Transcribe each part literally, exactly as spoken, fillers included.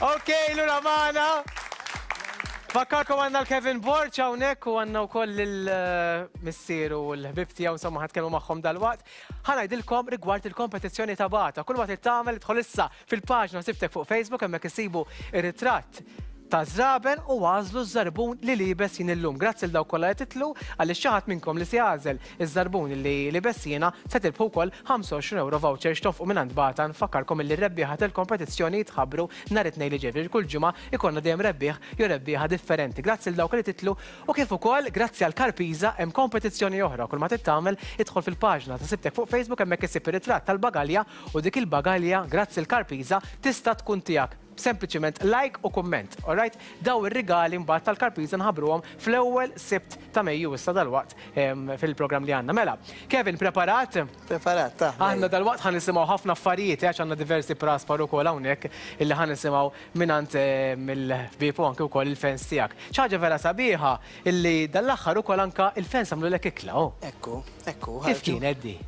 Ok, lura magħna. Fakkarkom għandna l-Kevin Borg hawnhekk u għandna wkoll il-missieru u l-ħbib tiegħu, insomma ħa nitkellmu magħhom dalwaqt. Ħa ngħidilkom rigward il-kompetizzjoni ta' Bata. Kull ma trid tagħmel, idħol issa fil-paġna Sibtek fuq Facebook, hemmhekk issibu ir-ritratt ta' żraben u għażlu ż-żarbun li liebes jien illum. Grazzi 'l dawk kollha li tidħlu, għaliex xi ħadd minnkom li se jagħżel iż-żarbun li liebes jiena se tirbħu wkoll ħamsa u għoxrin euro voucher x'tonfqu minn Bata. Nfakkarkom illi r-rebbieħa tal-kompetizzjoni jitħabbru nhar it-Tnejn li ġej. Kull ġimgħa ikollna dejjem rebbieħ jew rebbieħa differenti. Grazzi 'l dawk li tidħlu u kif ukoll grazzi għal Karpiza hemm kompetizzjoni oħra. Kull ma trid tagħmel, idħol fil-paġna ta' Sibtek fuq Facebook, hemmhekk issib ir-ritratt tal-bagalja u dik il-bagalja, grazzi l-Karpiza, tista' tkun tiegħek. Sempliċiment like u kumment, alright? Daw ir-rigali mbagħad tal-Karpiza nħabbruhom fl-ewwel Sibt ta' Mejju, issa dalwaqt em, fil-programm li għandna. Mela, Kevin, preparat? Preparat, ta' Aħna dalwaqt ħa nisimgħu ħafna affarijiet, għax għandna diversi praspar ukoll hawnhekk illi ħa nisimgħu mingħand mill-ħbieb u anke wkoll il-fans tiegħek. Ħaġa vera sabiħa illi dal-aħħar ukoll anka il-fans għamlu lek ikla, oh. Ekku, ekku. Kif ħarġu. kien Eddi?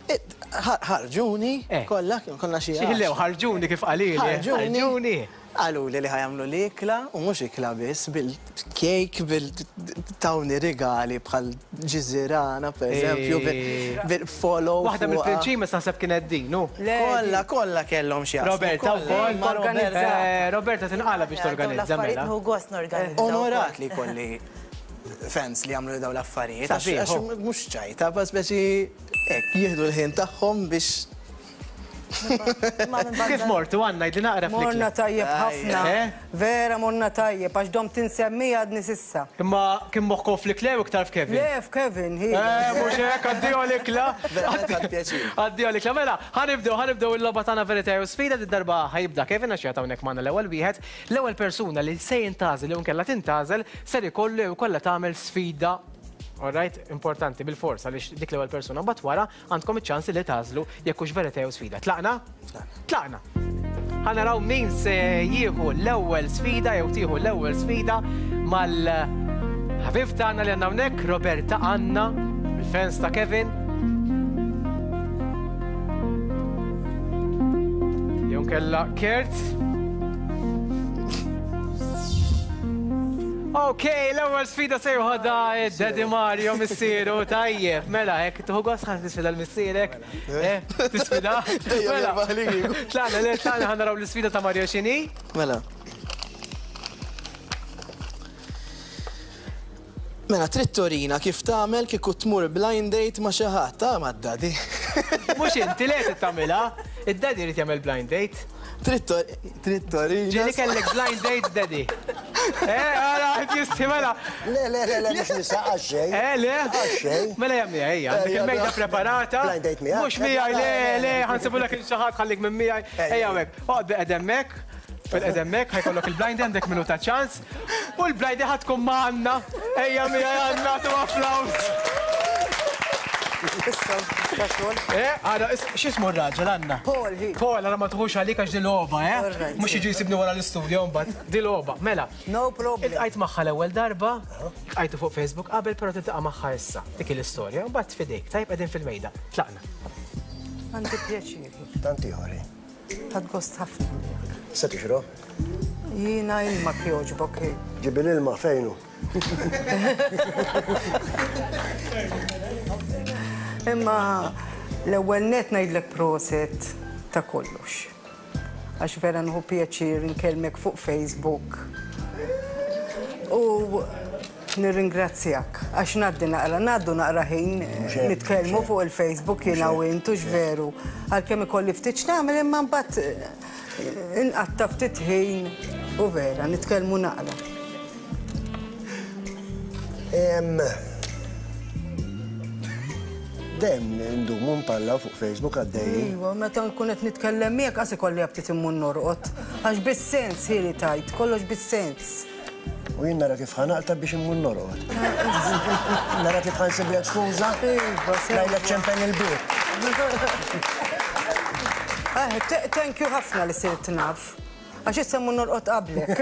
Eh, ħar- Ħarġuni, Eh. kollha, konna xi Xi ħarġuni kif qalili? Ħarġuni. Ħarġuni. Qalu li li ħa jagħmlu l-ikla, u mhux ikla biss, bil-kejk, bil-tawni rigali bħal ġiżirana, per eżempju, Eh. bil-follow. Waħda fuqha. mill-prinċimes naħseb kienet din, nu. Kollha, kollha kellhom xi jaslu, Roberta kollha. wkoll. Ma Roberta. Eh, Roberta tinqala biex torganizza L-affarijiet mela. nieħu gost norganizza. Onorat li kolli fans li għamlu daw l-affarijiet. Għax Sabiħ, għax oh. mhux ċajta, ba speċi hekk jieħdu l-ħin tagħhom biex Kif mortu għandna jdi naqra Morna fl-ikla? tajjeb ħafna. Eh? Vera morna tajjeb, għax dom tinsemmi għadni s'issa. Imma kien moħħkom fl-ikla u iktar f'Kevin? Le, f'Kevin, hi. Eh, mhux hekk, addio l-ikla. Verament ħadt pjaċir. Addio l-ikla. Mela, ħa nibdew, ħa nibdew il-logħba tagħna verità jew sfida. Id-darba ħa jibda Kevin għax jagħta hawnhekk magħna l-ewwel wieħed. L-ewwel persuna li se jintgħażel jew nkella tintgħażel ser ikollu jew kollha tagħmel sfida. Alright, importanti bil-fors għaliex dik l-ewwel persuna, mbagħad wara għandkom iċ-ċans li tagħżlu jekk hux verità jew sfida. Tlaqna? Tlaqna. Ħa naraw min se jieħu l-ewwel sfida jew tieħu l-ewwel sfida mal-ħabib tagħna li għandna hawnhekk, Roberta Anna, il-fans ta' Kevin. Jew kella Kurt. Ok, l-ewwel sfida se joħodha id-Daddy Mario, missieru, tajjeb. Mela, hekk tieħu gost ħa tisfida l-missierek. Eh, tisfida? Dejjem Mela. jirbaħ li kieku. Tlaqna, le, tlaqna, ħa naraw l-isfida ta' Mario x'inhi. Mela. Mela, trid turina kif tagħmel kieku tmur blind date ma' xi ħadd, ta' mad-daddy. Mhux inti le trid tagħmilha, id-daddy jrid jagħmel blind date. Trid tor- trid turina. Ġieli kellek blind date, daddy? Eh, ara, qed jisti mela. Le, le, le, le, mhux nisa għax-xejn. Eh, le? Għax-xejn. Mela jagħmilha ejja, għandek Ejja, il-mejda no. preparata. Blind date miegħek? Mhux miegħi, le, le, ħa nsibulek lil xi ħadd, ħallik minn miegħi. Ejja hekk, oqgħod bilqiegħda hemmhekk. Bilqiegħda hemmhekk, ħa jkollok il-blind, għandek minuta ċans. U l-blind ħa tkun ma' Anna. Ejja miegħi Anna, tu applaws. Issa, ta' xogħol. Eh, għara, x'ismu r-raġel, Anna? Paul, hi. Paul, għara ma tħux għalik għax di logħba, eh? All right. Mhux jiġi jsibni wara l-istudio mbagħad. Di logħba. Mela. No problem. Iltqajt magħha l-ewwel darba, iltqajtu fuq Facebook qabel, però tiltaqa' magħha issa. Dik l-istorja, mbagħad fidejk, tajb, qegħdin fil-mejda. Tlaqna. Għandi pjaċir. Tant ieħor. Ħadt gost ħafna. Se tixrob? Jiena ilma kjoġbok, hi. Ġibi l-ilma, fejnu. Imma l-ewwel net ngħidlek proset ta' kollox. Għax vera nieħu pjaċir nkellmek fuq Facebook. U nirringrazzjak għax ngħaddi naqra, ngħaddu naqra ħin hekk, nitkellmu mhux fuq il-Facebook jiena u int, hux veru. Għalkemm ikolli ftit x'nagħmel, imma mbagħad eh, inqatta' ftit ħin u vera nitkellmu naqra. Em, Dejjem ndumu npallaw fuq Facebook għaddejjin. Iva, meta nkun qed nitkellem miegħek qas ikolli aptit immur norqod. Għax bis-sens hi li tajt, kollox bis-sens. U jien nara kif ħa naqta' biex immur norqod. Nara kif ħa nsiblek skuża. Iva, sewa. Ngħidlek ċempen il-bieb. Eh, t- thank you ħafna li sirt naf. Għax issa mmur norqod qablek.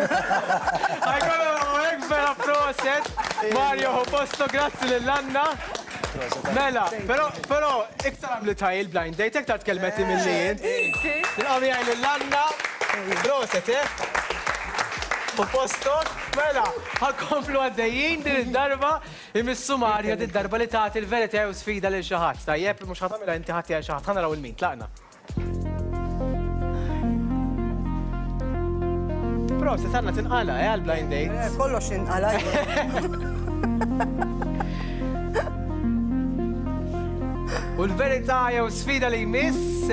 Ħajkollu hekk, vera proset. Mario ħu posto, grazzi lil Anna. Mela, però però iktar għamli taj il-blind date, iktar tkellmeti mill-li int. Nilqgħu miegħi lil Anna, Proset, eh? U postok, mela, ħa nkomplu għaddejjin din id-darba, imissu Mario din id-darba li tagħti l-verità u sfida lil xi ħadd. Tajjeb, mhux ħa tagħmilha inti ħadd xi ħadd, ħa naraw il-min, tlaqna. Proset, għandna tinqala, eh, għal-blind date. Kollox inqala. U l-verità jew sfida li jmiss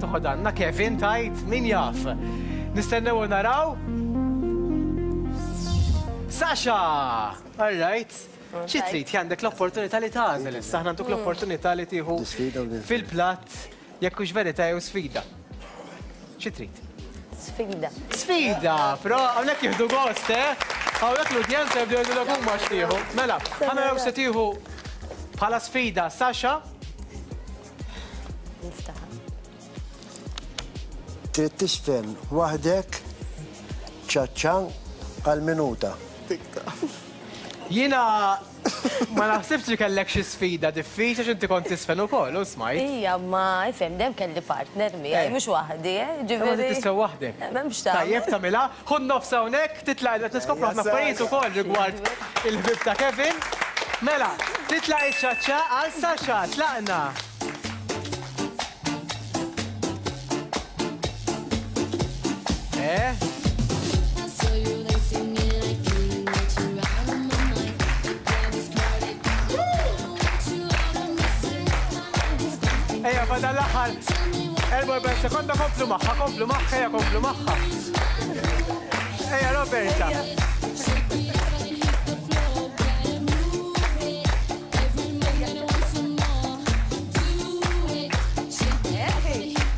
toħod għandna Kevin tajt min jaf. Nistennew u naraw. Sasha! All right. Xi trid għandek l-opportunità li tagħżel issa, aħna ntuk l-opportunità li tieħu fil-platt jekk hux verità jew sfida. Xi trid? Sfida. Sfida, però hawnhekk jieħdu gost, eh? Hawnhekk l-udjenza jibdew jgħidulek huma x'tieħu. Mela, ħa naraw se tieħu bħala sfida Sasha. Trid tisfen waħdek ċaċċa għal minuta. Jiena ma naħsibx li kellek xi sfida diffiċli għax inti kont tisfen ukoll, u smajt. Ija, ma ifhem dejjem kelli partner miegħi, mhux waħdi, eh? Ġifieri. Tisfen waħdek. M'hemmx tagħmel. Tajjeb tagħmilha, ħu nofs hawnhekk, titlaq qed niskopru ħafna affarijiet ukoll rigward il-ħbieb ta' Kevin. Mela, titlaq iċ-ċaċċa għal Sasha, tlaqna. Eh? Ejja, fadal l-aħħar erbgħa u erbgħin sekonda, komplu magħha, komplu magħha, ejja, komplu magħha. Ejja, Roberta.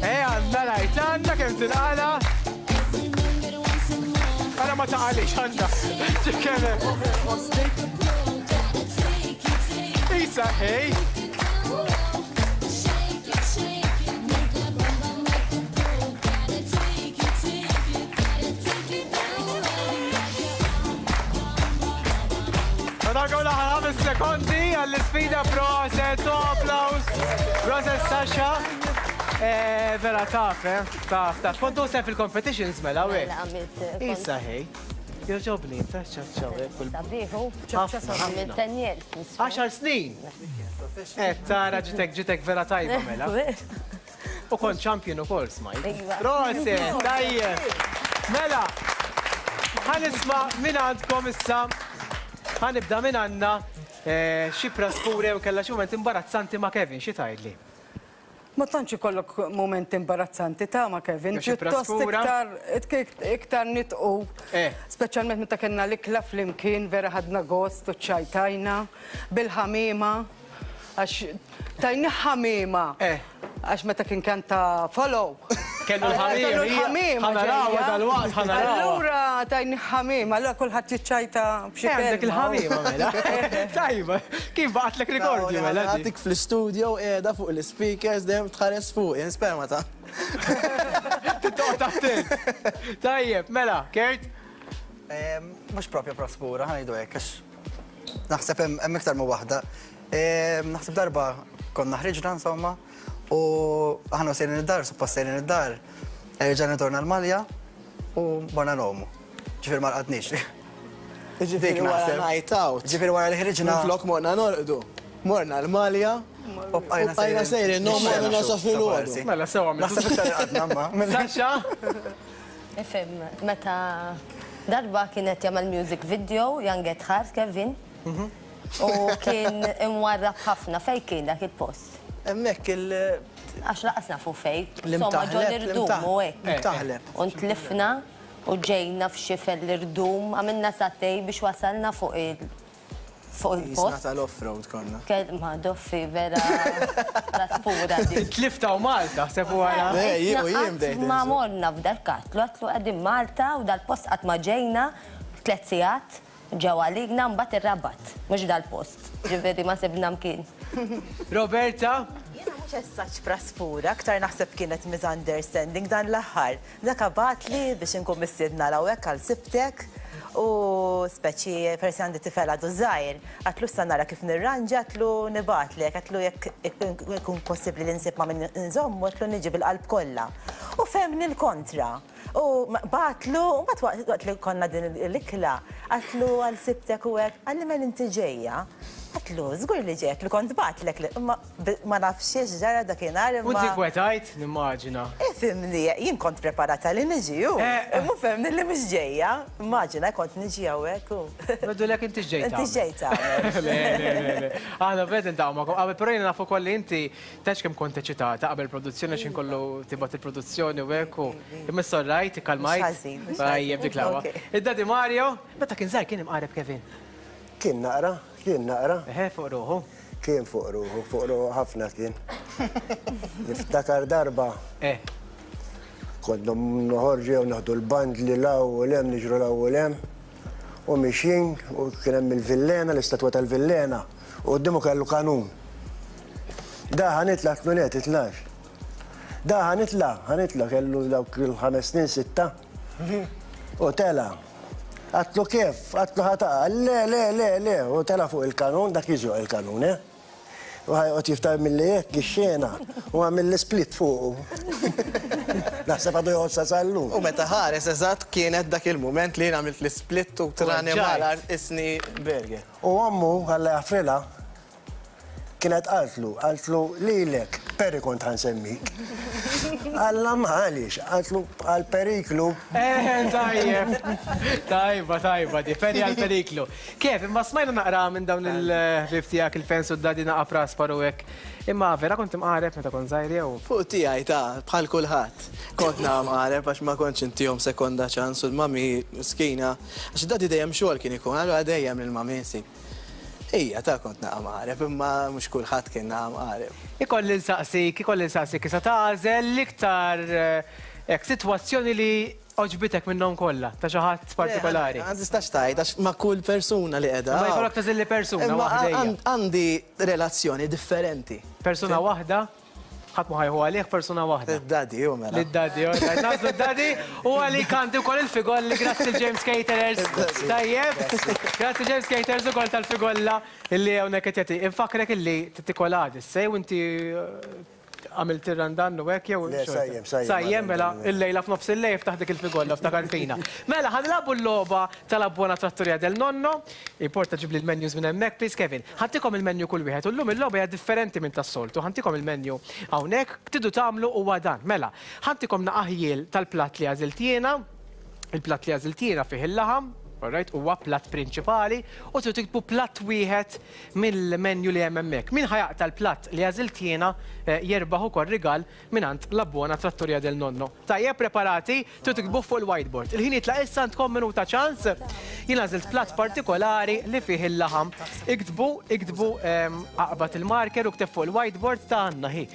Ejja, għandna rajt, għandna kemm tinqala. Ara ma taqalix, għandna. Ċikkenem. Isa, hej. Fadalkom l-aħħar ħames sekondi għall-isfida, proset, applaus. Proset, Sasha. Vera taf, eh? Taf, taf. Kontu sem fil-competitions mela, we? Isa, hej. Joġobni, ta' ċaċċa, Sabiħu. Għamilt ten years. Għaxar snin. Eh, tara ġitek ġitek vera tajba mela. U kont champion u kol, smajt. Proset, tajjeb. Mela, ħa nisma' minn għandkom issa. Ħa nibda minn għandna xi praspure u kellha xi mument imbarazzanti ma' Kevin, xi tgħidli? Ma tantx ikollok moment imbarazzanti ta' ma' Kevin, pjuttost iktar iktar nitqu. Speċjalment meta kellna l-ikla flimkien, vera ħadna gost u ċajtajna bil-ħamiema, għax tajni ħamiema. Għax meta kien kanta follow. Kellu l-ħamiem. Ħa narawha dal-waqt, ħa narawha. Allura tajni ħamiem, allura kulħadd jiċċajta b'xi kelma. Għandek il-ħamiema mela. Tajba, kif baqgħetlek rikordju mela? Għatik fl-istudio qiegħda fuq l-speakers dejjem tħares fuq, jien sperma ta'. Tittoqgħod attent. Tajjeb, mela, Kurt? Mhux propja praspura, ħa ngħidu hekk, għax naħseb hemm iktar ma' waħda. Naħseb darba konna ħriġna insomma, u aħna sejrin id-dar, suppost sejrin id-dar, rġajna torna l-Malja u morna nomu. Ġifieri ma rqadniex. Ġifieri wara night out. Ġifieri wara li ħriġna. Minflok morna norqdu. Morna l-Malja u bqajna sejrin nomu għal nasa filgħodu. Mela sewa għamiltu. Naħseb iktar rqadna ma. Sasha? Ifhem, meta darba kienet jagħmel music video, Young at Heart, Kevin. U kien imwarrab ħafna, fejn kien dak il-post? Hemmhekk il- Għax laqasna fuq fejn. Insomma, ġo l-irdum u hekk. L-imtaħleb. U ntlifna u ġejna f'xifer l-irdum, għamilna satej biex wasalna fuq il- fuq il-post. Jisna tal-off-road konna. Ma doffi vera praspura di. Tlifta u Malta, sefu għara. Ma morna f'dal katlu, għatlu għadim Malta u dal-post qatt ma ġejna tliet sigħat ġew għaligna mbagħad ir-Rabat, mhux dal-post. Ġifieri ma sibna mkien. Roberta? Jiena mhux essaċ praspura, aktar naħseb kienet misunderstanding dan l-aħħar. Dak bagħatli biex inkun mistiedna hawnhekk għal sibtek u speċi persi għandi tifel għadu żgħir. Għatlu issa nara kif nirranġa, għatlu nibatlek, għatlu jekk ikun possibbli li nsib ma' min nżommu, għatlu niġi bil-qalb kollha. U femni l-kontra. U bagħatlu, u mbagħad waqt li konna din l-ikla, għatlu għal sibtek u hekk, qalli mela inti ġejja. Għatlu, żgur li ġejja, li kont bagħatlek, imma ma nafx ġara dakinhar. U inti kwetajt, nimmaġina. Ifhimni, jien kont preparata li niġi, u imma fehmni li mhux ġejja. Immaġina kont niġi hawnhekk u. Għedulek inti ġejta. Inti ġejta. Le, le, le. Aħna bed intaqgħu magħkom. Qabel però jiena naf ukoll li inti tgħidx kemm kont eċitata qabel produzzjoni x'in kollu tibgħat il-produzzjoni u hekk u imma issa rajt, ikkalmajt. Tajjeb dik l-aqwa. Id-Daddy Mario, meta kien żgħir kien imqareb Kevin. Kien naqra, kien naqra. Eħe, fuq ruħu. Kien fuq ruħu, fuq ruħu ħafna kien. Niftakar darba. Eh. Konna noħorġu jew naħdu l-band li law u lem, niġru law u lem. U mixin, u kien hemm il-Villena, l-istatwa tal-Villena, u quddiemu kellu kanun. Da ħanitla' tlu le titlax. Da ħanitla', ħanitla' kellu dawk il-ħames snin sitta. U tela. Għatlu kif, għatlu ħataqa, le, le, le, le, u tela fuq il-kanun, dak jiżjoq il-kanun, eh? U ħajqot jiftar mill-li jekk ix-xena, u għamil l-split fuqu. Naħseb għadu joqgħod sa sal-lum. U meta ħares eżatt kienet dak il-mument li jien għamilt l-split u trani mal-art isni burger. U ommu, Alla jaħfrilha, kienet qaltlu, qaltlu lilek, Peri kont ħansemmik. Alla ma għaliex, qaltlu għal periklu. Eh, tajjeb. Tajba, tajba, di Peri għal periklu. Kif, imma smajna naqra minn dawn il-ħbieb tiegħek il-fans u d-daddy naqa' praspar u hekk. Imma vera kont imqareb meta kont żgħir jew? Fuq tiegħi ta' bħal kulħadd. Kont naqa' mqareb għax ma kontx intihom sekonda ċans u l-mami miskina. Għax id-daddy dejjem xogħol kien ikun, allura dejjem lill-mami nsib. Ija, ta' kont naqa' mqareb, imma mhux kulħadd kien naqa' mqareb. Ikolli nsaqsik, ikolli nsaqsik, issa tagħżel l-iktar hekk sitwazzjoni li għoġbitek minnhom kollha, ta' xi ħadd partikolari. Ma tistax tgħid għax ma' kull persuna li qiegħda. Ma jkollok tagħżel li persuna waħda. Għandi relazzjoni differenti. Persuna waħda? Ħadd ma ħajħu għalih persuna waħda. Id-daddy, u mela. Lid-daddy, u mela. Nażlu d-daddy u għalik għandi wkoll il-figolli, grazzi James Caterers. Tajjeb, grazzi James Caterers ukoll tal-figolla illi hawnhekk qed jagħti. Infakrek illi titikol għadis, sej u inti għamilt ir-randan u hekk jew. Le, sajjem, sajjem. Sajjem, mela, illejla f'nofs il-lejl ftaħ dik il-figolla ftakar fina. Mela, ħanilagħbu l-logħba tal-Buona Trattoria del Nonno. Importa ġib li l-menus minn hemmhekk, please Kevin. Ħantikom il-menu kull wieħed u llum il-logħba hija differenti minn tas-soltu. Ħantikom il-menu hawnhekk tridu tagħmlu huwa dan. Mela, ħantikom naqaħjiel tal-platt li għażilt jiena. Il-platt li għażilt jiena fih il-laħam. Alright, huwa platt prinċipali u tridu tiktbu platt wieħed mill-menu li hemm hemmhekk. Min ħajaqta l-platt li għażilt jiena jerbaħ ukoll rigal mingħand La Buona Trattoria del Nonno. Tajjeb, preparati, tridu tiktbu fuq il-whiteboard. Il-ħin jitlaq issa għandkom minuta ċans. Jien għażilt platt partikolari li fih il-laħam. Iktbu, iktbu aqbad il-marker u kteb fuq il-whiteboard ta' għandna hi.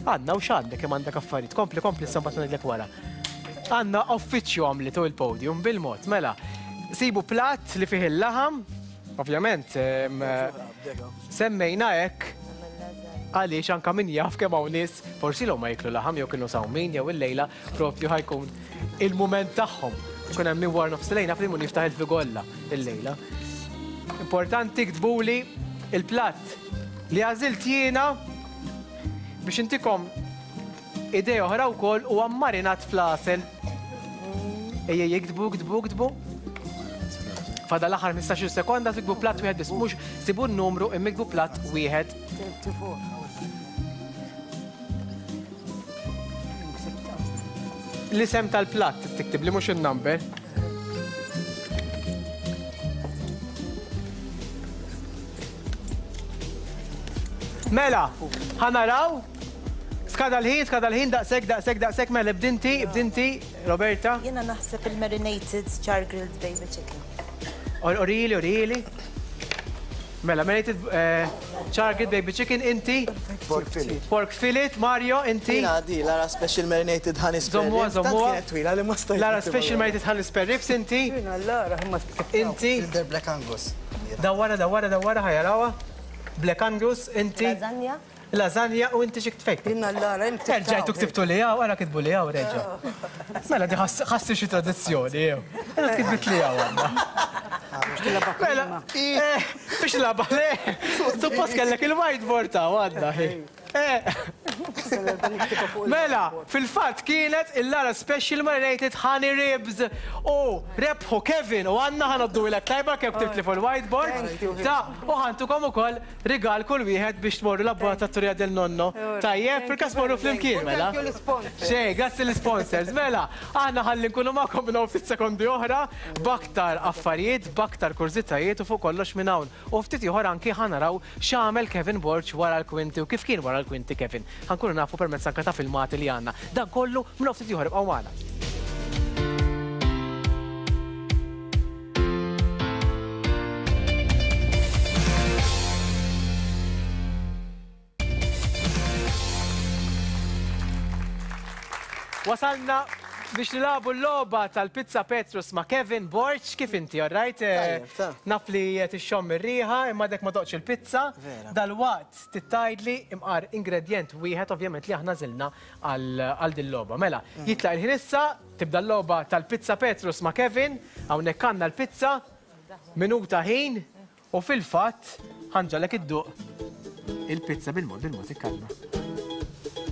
Għandna u x'għandek kemm għandek affarijiet. Kompli, kompli issa mbagħad ngħidlek wara. Għandna uffiċċju għamlitu il-podium bil-mod, mela. Sibu platt li fih il-laħam, ovvjament, semmejna hekk għaliex anka min jaf kemm hawn nies forsi l ma jiklu laħam jew kienu sawmin jew illejla propju ħajkun il-mument tagħhom. Ikun hemm min wara nofs il-lejl naf li mun jiftaħ il-figolla illejla. Importanti ktbuli il-platt li għażilt jiena biex intikom idea oħra wkoll huwa marinat fl-għasel. Ejja jiktbu, ktbu, ktbu. Fada l-aħħar ħmistax-il sekonda tikbu platt wieħed biss, mhux sibu n-numru imma iktbu platt wieħed. L-isem tal-platt tiktib li mhux in-number. Mela, ħanaraw. Skada l-ħin, skada l-ħin, daqshekk, daqshekk, daqshekk, mela bdinti, bdinti, Roberta. Jiena naħseb il-marinated char grilled baby chicken. Orili, orili. Mela, marinated char grilled baby chicken, inti? Pork fillet. Pork fillet, Mario, inti? Jina di, Lara special marinated honey spare ribs. Zommuha, zommuha. Kienet twila li ma stajt. Lara special marinated honey spare ribs, inti? Jina Lara, imma Inti? Filter Black Angus. Dawara, dawara, dawara, ħajarawa. Black Angus, inti? Lasagna. Lasagna u inti xi ktfejt. Jina Lara, inti. Erġajtu ktibtu li hawn, ara kitbu li hawn, reġa'. Mela di ħassi xi tradizzjoni jew. Mela tkitbit li hawn għandna. Mela, biex laba le. Suppost kellek il-whiteboard ta' għandna. Eh. Mela, fil-fatt kienet il-Lara Special Marinated Honey Ribs u rebħu Kevin u għanna ħanoddu l tajba kif ktibtli fuq il-whiteboard. Ta' u ħantukom ukoll rigal kull wieħed biex tmorru l-abbonat tat-Turija del Nonno. Tajjeb, fil-każ morru flimkien, mela. Xej, grazzi l-sponsors. Mela, aħna ħalli nkunu magħkom minn hawn ftit sekondi oħra b'aktar affarijiet, b'aktar kurżitajiet u fuq kollox minn hawn. U ftit ieħor anki ħanaraw x'għamel Kevin Borg wara l-kwinti u kif kien wara l-kwinti Kevin. Ħankunu nafu permezz anke ta' filmati li għandna. Dan kollu minn ftit ieħor ibqgħu magħna. Wasalna biex nilabu l-logħba tal-Pizza Petrus ma' Kevin Borg. Kif inti, all right? Naf li tixxomm ir-riħa, imma dek ma doqx il-pizza. Dal-waqt tittajdli imqar ingredient wieħed ovvjament li aħna żilna għal din logħba. Mela, jitlaq il-ħin issa, tibda l-logħba tal-Pizza Petrus ma' Kevin, hawnhekk għandna l-pizza, minuta ħin, u fil-fatt ħanġalek idduq il-pizza bil-mod bil-mod ikkalma.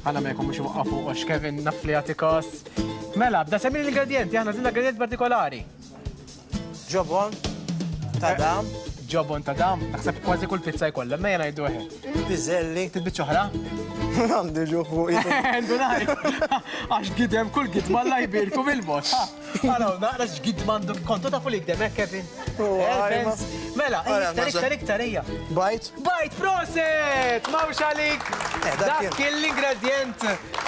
Għana ma jkun mux waqqafu għax Kevin naf li għatikos. Mela, bda semmi l-ingredienti, aħna zilna ingredient partikolari. Ġobon, tadam. Ġobon, tadam, naħseb kważi kull pizza jkollha, ma jena jgħidu eħe. Piżelli. Titbiċ oħra? Għandi ġuħ fuq. Ndunajt. Għax gidem kull gidma la jbirku bil-mod. Għaraw, naqra x'gidma għandu kontu tafu li gdem, eh, Kevin? Mela, iktar, iktar, iktar, ejja. Bajt? Bajt, proset! Mawx għalik! Dak kien l-ingredient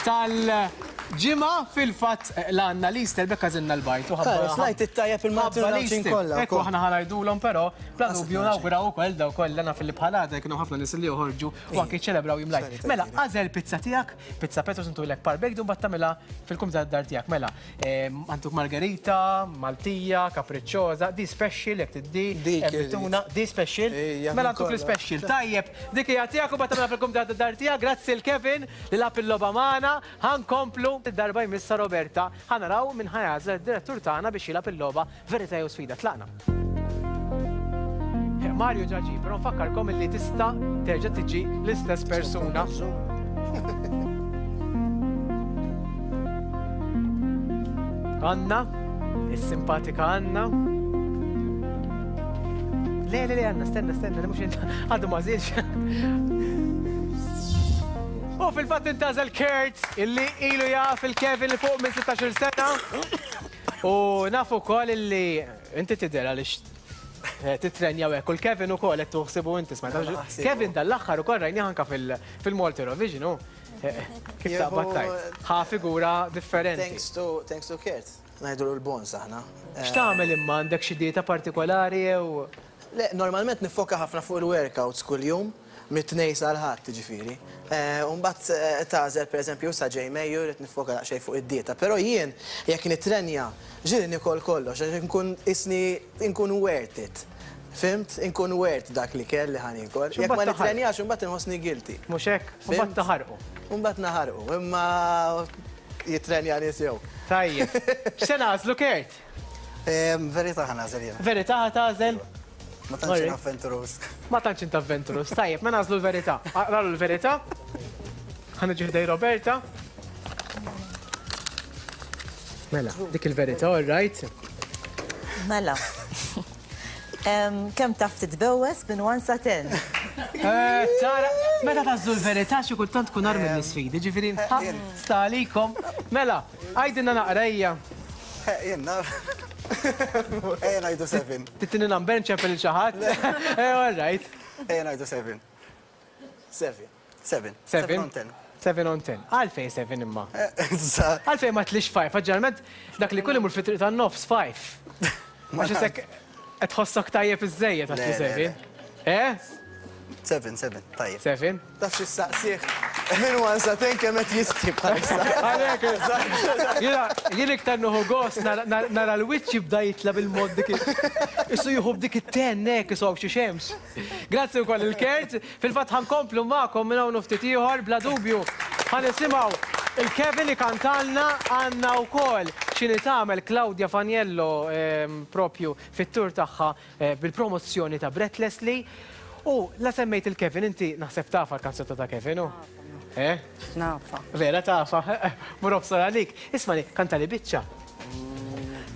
tal-ġimgħa fil-fatt l-għanna l-Easter bekka zinna l-bajt. Slajt it-tajja fil-Maltin kollha. Ekku aħna ħanajdulhom però bla dubju nawguraw ukoll daw kollha naf li bħalada kienu ħafna nies li joħorġu u anke jiċċelebraw jum lajt. Mela, għażel pizza tiegħek, pizza Petrus intulek par baked u mbagħad tagħmilha fil-kumżat dar tiegħek. Mela, għanduk margarita, Maltija, capricciosa, di special jekk tiddi, tuna, di special. Mela għanduk l-special. Tajjeb, dik hija tiegħek u mbagħad tagħmilha fil-kumżat dar tiegħek. Grazzi l Kevin li lab il-logħba magħna. Ħankomplu id-darba jmissa Roberta. Ħanaraw minn ħajażel id-direttur tagħna biex jilgħab il-logħba Verità jew Sfida. Tlaqna. Mario ġaġi, però nfakkarkom illi tista' terġa' tiġi l-istess persuna. Anna, is-simpatika Anna. Le, le, le, Anna, stenna, stenna, li mhux inta għadu ma żilx. U fil-fatt intażel Kurt illi ilu jaf il-Kevin li fuq minn sittax-il sena. U nafu wkoll illi inti tidher għaliex titrenja hekk u l-Kevin ukoll qed tuħsibu inti smajt. Kevin dal-aħħar ukoll rajni anke fil-Malta Eurovision hu. Kif taqbad tajt? Ħa figura differenti. Thanks to thanks to Kurt. Ngħidu l-bons aħna. X'tagħmel imma għandek xi dieta partikolari jew? Le, normalment nifoka ħafna fuq il-workouts kuljum. Mit-tnejn sal-ħadd ġifieri. U mbagħad tagħżel pereżempju sa ġej Mejju rrid nifoka daqsxejn fuq id-dieta. Però jien jekk nitrenja ġieli nikol kollox għax inkun isni inkun worth it. Fimt? Inkun worth dak li kelli ħa niekol. Jekk ma nitrenjax imbagħad inħossni guilty. Mhux hekk? U mbagħad taħarqu. U mbagħad naħarqu, imma jitrenja nies jew. Tajjeb. X'se nagħżlu Kurt? Verità ħa nagħżel jien. Verità ħa tagħżel? Ma tantx int avventurus. Ma tantx int avventurus. Tajjeb, ma nagħżlu l-verità. Aqralu l-verità. Ħa niġi ħdej Roberta. Mela, dik il-verità, all right. Mela. Kemm taf titbewwes minn one sa ten? Tara, meta tażlu l-verità xi kultant tkun armi l-isfidi, ġifieri sta għalikom. Mela, għajdilna naqra ejja. Jien naf. Ejja ngħidu seven. Tittini number nċempel il xi ħadd? Eh, all right. Ejja ngħidu seven. Seven. Seven. Seven on ten. Seven on ten. Għalfejn seven imma? Għalfejn ma tlix five, ġeneralment dak li kull imur fit-triq tan-nofs five. Għax isek qed tħossok tajjeb iżejjed għax li seven. Eh? Seven, seven, tajjeb. Seven. Taf xi saqsih. Min one sa ten kemm qed jistħi bħalissa. Għalhekk, jiena jien iktar nieħu gost nara l-wiċċ jibda jitla bil-mod dik. Issu jieħu b'dik it-ten hekk isu hawn xi xemx. Grazzi wkoll il-Kurt. Fil-fatt ħankomplu magħkom minn hawn ftit ieħor bla dubju. Ħa nisimgħu il-Kevin ikantalna għandna wkoll x'inhi tagħmel Claudia Faniello propju fit-tur tagħha bil-promozzjoni ta' Breathlessly. U la semmejt il-Kevin, inti naħseb tafa l-kanzunetta ta' Kevin, u? Eh? Nafa. Vera tafa. Mur obsor għalik. Ismani, kanta li biċċa.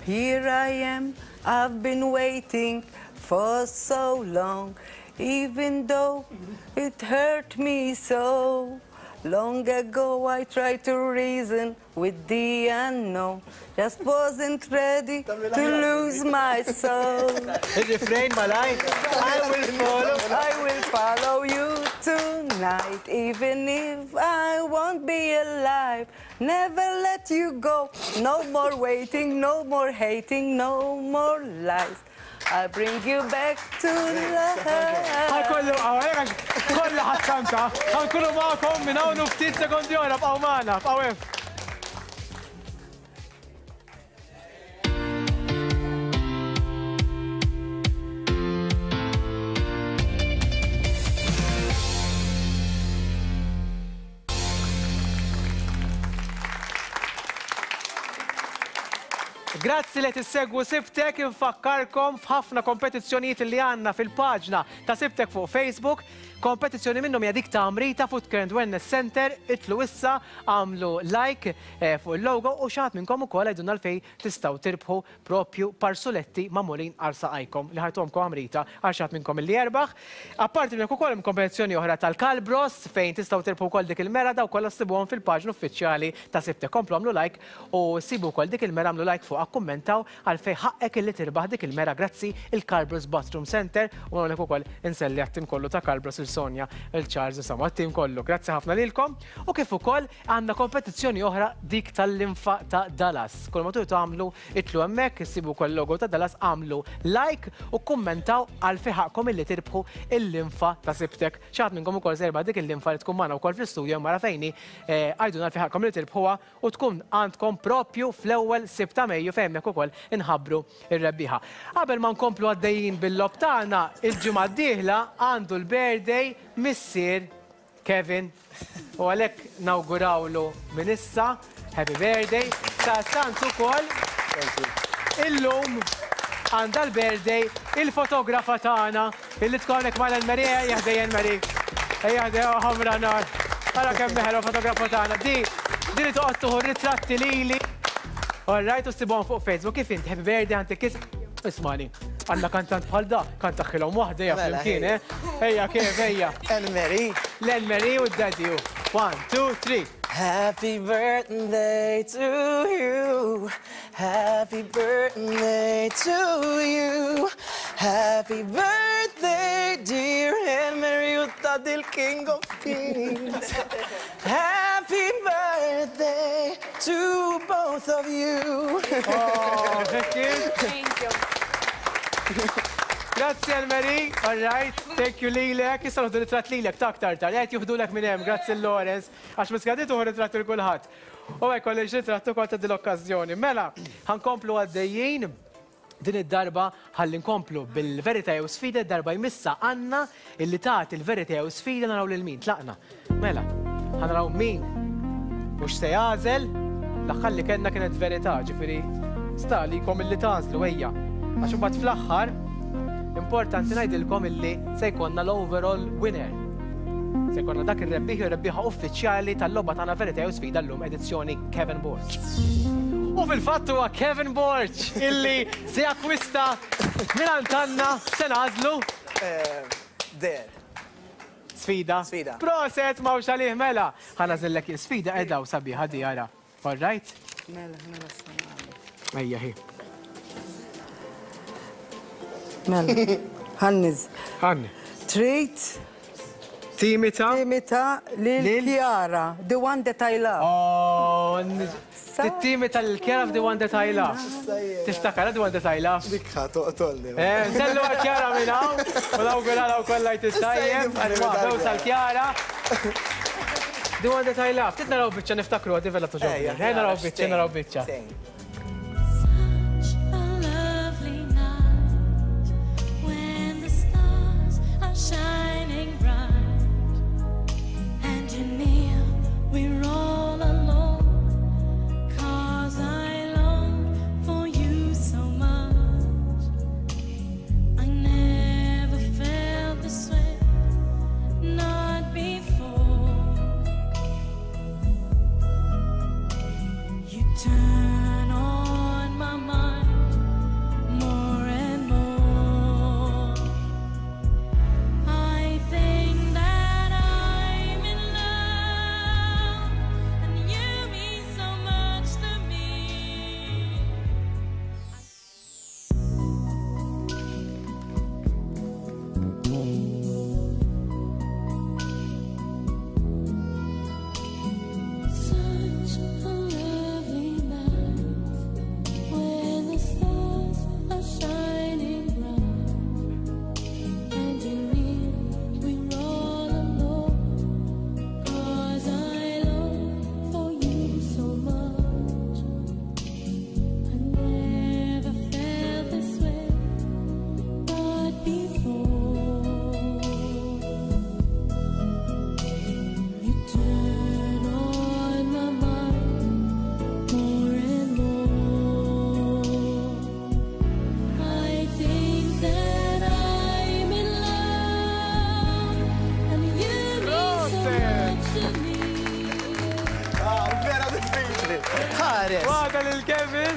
Here I am, I've been waiting for so long, even though it hurt me so. Long ago I tried to reason with the unknown, just wasn't ready to lose my soul. Il-refrain malaj, I will follow. I will follow you tonight, even if I won't be alive. Never let you go. No more waiting, no more hating, no more lies. I'll bring you back to life. Ħajkollu, għawek, kollha ħatkanta. Ħankunu magħkom minn hawn u ftit sekondi oħra, bqgħu magħna, bqgħu hemm. Grazzi li tissegwu Sibtek, infakkarkom f'ħafna kompetizzjonijiet li għandna fil-paġna ta' Sibtek fuq Facebook. Kompetizzjoni minnhom hija dik ta' Amrita Food Care and Wellness Center, itlu issa, għamlu like fuq il-logo u xi ħadd minnkom ukoll għidulna għalfejn tistgħu tirbħu propju parsuletti magħmulin għal saqajkom li ħajtuhomkom Amrita għal xi ħadd minnkom illi jerbaħ. Apparti minn hekk ukoll hemm kompetizzjoni oħra tal-Kalbros fejn tistgħu tirbħu wkoll dik il-mera, daw kollha ssibuhom fil-paġna uffiċjali ta' Sibtek. Komplu għamlu like u sibu wkoll dik il-mera, għamlu like fuq, kummentaw għalfejn ħaqqek illi tirbaħ dik il-mera grazzi il-Kalbros Bathroom Center u hawnhekk ukoll inselli għat-tim kollu ta' Kalbros, il-Sonja, il-Charles, insomma għat-tim kollu. Grazzi ħafna lilkom. U kif ukoll għandna kompetizzjoni oħra dik tal-linfa ta' Dallas. Kull ma tridu tagħmlu itlu hemmhekk, issibu wkoll logo ta' Dallas, għamlu like u kummentaw għalfejn ħaqkom illi tirbħu il-linfa ta' Sibtek. Xi ħadd minnkom ukoll se jerbaħ dik il-linfa li tkun magħna wkoll fl-istudio mara fejni, għajduna għalfejn ħaqkom li tirbħuha u tkun għandkom propju fl-ewwel Sibt ta' Mejju fejn hemmhekk ukoll inħabbru ir-rebbieħa. Qabel ma nkomplu għaddejjin bil-lob tagħna, il-ġimgħa d-dieħla għandu l-birthday missier Kevin u għalhekk nawgurawlu minn issa happy birthday. Sadattant ukoll illum għandha l-birthday il-fotografa tagħna illi tkun hawnhekk magħna l-Mary, ejja ħdejja Mary. Ejja ħdejja ħamra nar. Ara kemm meħlu fotografa tagħna. Di di li toqgħod tieħu ritratti lili. All right, u ssibhom fuq Facebook. Kif inti happy birthday għandek kiss? Ismani, għandna kantant bħal da, kantaħħilhom waħda hija flimkien, eh? Ejja kif, ejja. Anne-Marie. L-Anne-Marie u d-daddy. One, two, three. Happy birthday to you. Happy birthday to you. Happy birthday, dear Anne-Marie u daddy, king of kings. Happy birthday to both of you. Oh, thank you. Thank you. Grazie Anne-Marie, all right, thank you lilek, issa noħdu ritratt lilek ta' aktar tard, qed juħdulek minn hemm, grazzi Lawrence, għax miskadiet uħu ritratt il kulħadd. U hekk kollox ritratt ukoll ta' din l-okkażjoni. Mela, ħankomplu għaddejjin din id-darba ħalli nkomplu bil-verità jew sfida, darba jmissa għandna illi tagħti il-verità jew sfida naraw lil min, tlaqna. Mela, ħanaraw min mhux se jagħżel, l-aħħar li kellna kienet verità, ġifieri sta għalikom illi tagħżlu ejja. Għax imbagħad fl-aħħar importanti ngħidilkom illi se jkollna l-overall winner. Se jkollna dak ir-rebbieħ u rebbieħa uffiċjali tal-logħba tagħna verità jew sfida llum edizzjoni Kevin Borg. U fil-fatt huwa Kevin Borg illi se jakkwista mingħand Anna, se nagħżlu. Der. Sfida. Sfida. Proset m'hawnx għalih mela. Ħa nagħżillek sfida qiegħda u sabiħa di ara. All right? Mela, mela s-sanali. Ejja hi. Mela, ħanniż. Ħanni. Trid Timita. Timita lil Chiara, the one that I love. Oh, timita lil Chiara the one that I love. Tiftakar the one that I love. Dik ħa toqtolni. Eh, nsellu għal Chiara minn hawn, u nawguralha wkoll lajt it-tajjeb, għal sal Chiara. The one that I love. Tit naraw biċċa niftakru għadi vella toġobni. Eh, naraw biċċa, naraw biċċa. Such a lovely night when the stars are shining bright and you're near, we're all alone, 'cause I long for you so much. I never felt this way, not before. turn on my mind more and more. I think that I'm in love, and you mean so much to me. Such a lovely night when the stars are shining bright, and you're near, we're all alone. 'Cause I long for you so much. I never felt this way, but before. You turn on my mind more and more. I think that I'm in love, and you mean so much to me. Ah, vera diffiċli. Ħares. Waħda lil Kevin.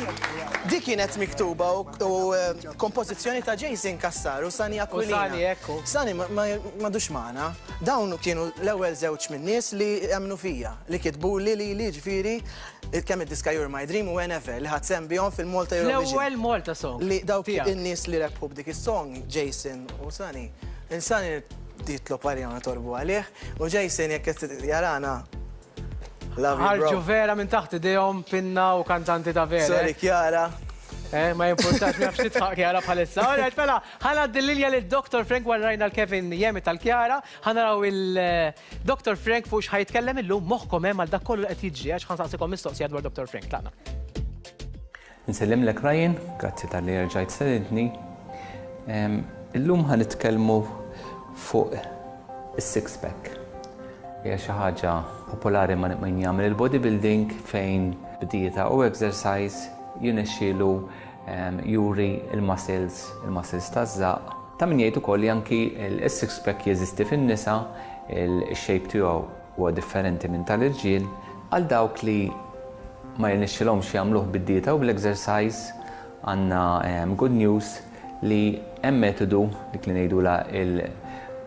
Di kienet miktuba u, u eh, kompożizzjoni ta' Jason Cassar u Sani Aquilina. Sani, ekku. Sani ma- ma madux magħna. Dawn kienu l-ewwel żewġ min-nies li emmnu fija, li kitbu li li li ġifieri kemm id-diska You're My Dream u Whenever li ħadt sehem bihom fil-Malta Eurovision. L-ewwel Malta song. Li dawk tiegħek. in-nies li rebħu b'dik is-song, Jason u Sani. Il-Sani titlob għalija torbu għalih u Jason jekk qed jarana. Love you, Ħarġu bro. vera minn taħt idejhom pinna u kantanti ta' vera. Sorry, Chiara. Eh, ma jimpurtax, ma nafx titħaq Chiara bħalissa. Alright, mela, ħa ngħaddi l-linja lil Dr. Frank wara rajna l-Kevin Jemi tal-Chiara, ħa naraw il-Dr. Frank fuq x'ħa jitkellem illum moħħkom hemm għal dak kollu li qed jiġri għax ħa nsaqsikom mistoqsija dwar Dr. Frank. Tlaqna. Nsellimlek Ryan, grazzi talli rġajt stedintni. Em, Illum ħa nitkellmu fuq is-six pack. Hija xi ħaġa popolari ma' min jagħmel il-bodybuilding fejn b'dieta u exercise jirnexxielu em, juri il-muscles, il-muscles taż-żaq. Ta' min jgħid ukoll li anki il-six pack jeżisti fin-nisa, il-shape tiegħu huwa differenti minn tal-irġiel, għal dawk li ma jirnexxilhomx jagħmluh bid-dieta u bl-exercise għandna um, good news li hemm metodu dik li ngħidula il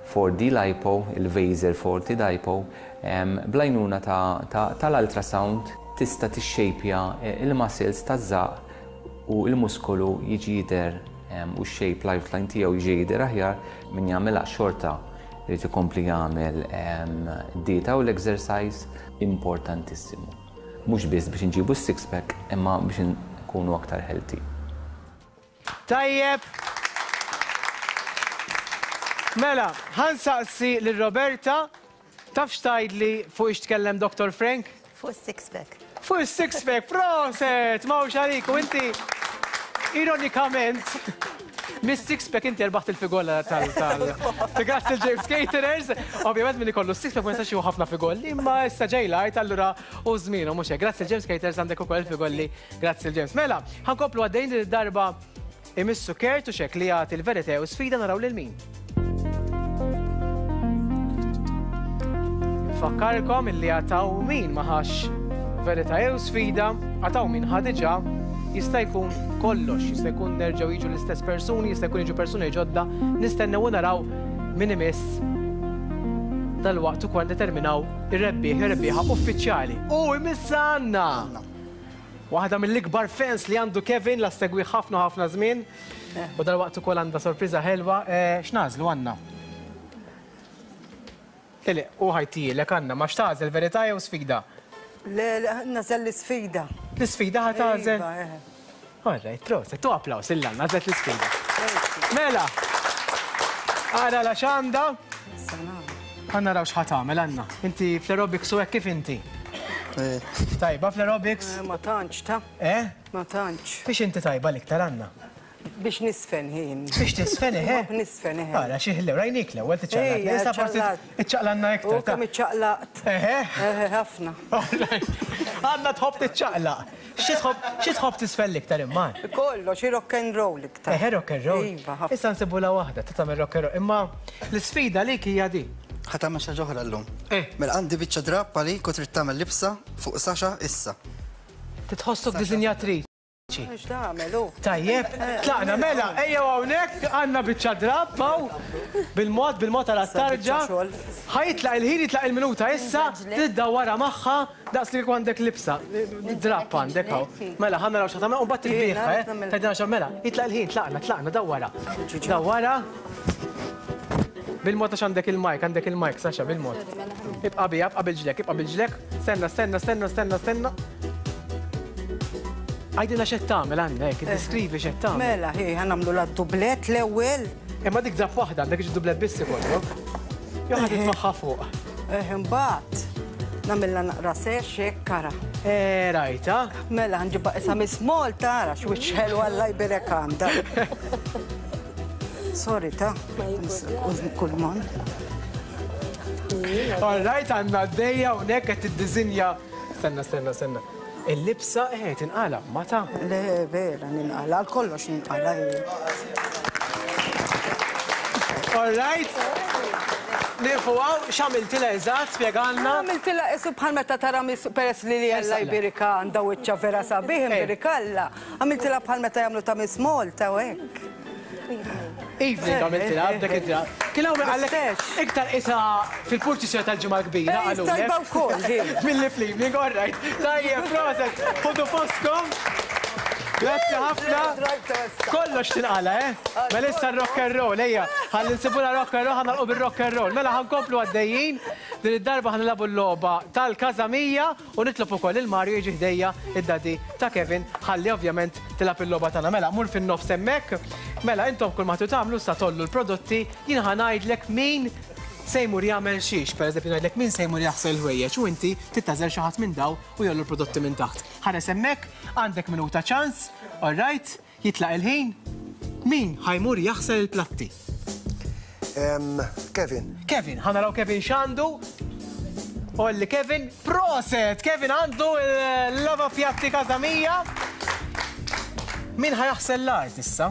four D lipo, il-Vaser four D lipo, um, bl-għajnuna ta' ta, tal-ultrasound tista' tixxejpja il-muscles taż-żaq u il-muskolu jiġi jidher um, u x-shape lifeline tiegħu jiġi jidher aħjar. Min jagħmilha xorta irid ikompli jagħmel um, dieta u l-exercise, importantissimu. Mhux biss biex nġibu s-six pack, imma biex nkunu aktar healthy. Tajjeb. Mela, ħa nsaqsi lil Roberta, taf x'tgħidli fuq ix tkellem Dr. Frank? Fuq six pack. Fuq is-six pack, proset, mawx għalik, u inti, ironikament, mis six pack inti rbaħt il-figolla tal tal. Grazzi l-James Caterers, ovvjament min ikollu six pack ma jistax jieħu ħafna figolli, imma issa ġej lajt allura u żmienu mhux hekk. Grazzi l-James Caterers, għandek ukoll il-figolli, grazzi l-James. Mela, ħa nkomplu għaddejn, din id-darba imissu Kurt u xek li jagħti l-verità u sfida, naraw lil min. Fakkarkom illi għataw min maħax verità jew sfida, għataw min ħadiġa, jista' jkun kollox, jista' jkun nerġgħu jiġu l-istess persuni, jista' jkun jiġu persuni ġodda, nistennew u naraw min imiss dal-waqt ukoll determinaw ir-rebbieħ, ir-rebbieħa uffiċjali. U imissa għandna waħda mill-ikbar fans li għandu Kevin, la segwi ħafna ħafna żmien. U dal-waqt ukoll għandha sorpriża ħelwa. Eh, X'nagħżlu għandna? Lili, u ħajtilek għandna, ma x'tagħżel, verità jew sfida? Le, le, nagħżel l-isfida. L-isfida ħa tagħżel? Iva, eh. All right, proset, tu applaus il-lanna, għażlet l-isfida. Mela, ara la xanda. Ħa naraw x'ħa tagħmel Anna. Inti fl-aerobics u hekk kif inti? Tajba fl-aerobics? Eh, Ma tantx, ta' Eh? Ma tantx. Biex inti tajba l-iktar, Anna? Biex nisfen ħin. Biex tisfen, eh? Nisfen, eh. Ara, xi ħlew, rajnik l-ewwel tiċċaqlaq. Ejja, Issa forsi ċaqlaqt. iċċaqlanna U iktar. ta' kemm iċċaqlaqt. Eħe. Eħe, ħafna. Għandna tħobb tiċċaqlaq. Xi tħobb xi tħobb tisfel l-iktar imma? Kollox, xi rock and roll iktar. Eħe, rock and roll. Iva, ħafna. Issa nsibula waħda, ta' tagħmel rock and roll. Imma l-isfida lik hija di. Ħa tagħmel xi ħaġa oħra llum. Eh. Mela għandi biċċa drapp għalik u trid tagħmel libsa fuq Sasha issa. Titħossok dizinjatriċi. Tajjeb, tlaqna mela, ejja hawnhekk għandna biċċa drapp hawn bil-mod bil-mod għal tarġa. Ħa jitlaq il-ħin jitlaq il-minuta issa, tiddawwarha magħha daqs li għandek libsa. Drapp għandek hawn. Mela ħa naraw x'ħa tagħmel u mbagħad tilbiħha, eh? Tgħidilna x'għamel mela, jitlaq il-ħin, tlaqna, tlaqna, dawwarha. Dawwarha. Bil-mod għax għandek il-mic, għandek il-mic, Sasha, bil-mod. Ibqa' bija, ibqa' bil-ġlek, ibqa' bil-ġlek. Stenna, stenna, stenna, stenna, stenna. Għajdilna x'qed tagħmel għandek, iddeskrivi x'qed tagħmel. Mela, hi, ħa nagħmlu la dublet l-ewwel. Imma dik drapp waħda, għandek iġi dublet biss ikollok. Jew ħa titfaħħa fuq. Eh, imbagħad nagħmilha naqra sex hekk kara. Eh, rajta. Mela ħanġibha qisha Miss Malta, ara x'wiċċ ħelu Alla jbirek għandha. Sorry ta' kull mon. All right, għandna għaddejja hawnhekk qed tiddisinja. Stenna, stenna, stenna. Il-libsa eh tinqala, ma ta' Le, vera, ninqala, għal kollox ninqala. All right. Nieqfu hawn, x'għamiltilha eżatt, spjegalna. Għamiltilha qisu bħal meta tara Miss peress li li Alla jbirika għandha wiċċa vera sabiħ, imbirikalla. Għamiltilha bħal meta jagħmlu ta' Miss Malta u hekk. Evening għamiltilha, b'dak id-drapp. Kien hawn min qallek iktar qisha fil-purċissjoni tal-Ġimgħa l-Kbira qalulek. Tajba wkoll, hi. Milli fl-evening, all right. Tajjeb, proset, ħudu postkom. Grazzi ħafna. Kollox tinqala, eh? Mela issa r-rock and roll, ejja. Ħalli nsibula rock and roll, ħa nagħlqu bir-rock and roll. Mela ħa nkomplu għaddejjin. Din id-darba ħa nilagħbu l-logħba tal-Każamija u nitlob ukoll il Mario jiġi ħdejja id-daddy ta' Kevin ħalli ovvjament tilgħab il-logħba tagħna. Mela mur fin-nofs hemmhekk. Mela intom kull ma tagħmlu sa tollu l-prodotti, jien ħa ngħidlek min se jmur jagħmel xiex. Pereżempju ngħidlek min se jmur jaħsel ħwejjeġ u inti tittażel xi ħadd minn daw u jollu l-prodotti minn taħt. Ħares hemmhekk, għandek minuta ċans, all right, jitlaq il-ħin. Min ħa jmur jaħsel il-platti? Kevin. Kevin, ħa naraw Kevin x'għandu. Olli Kevin, proset! Kevin għandu l-lava pjatti Każamija. Min ħa jaħsel l-art issa?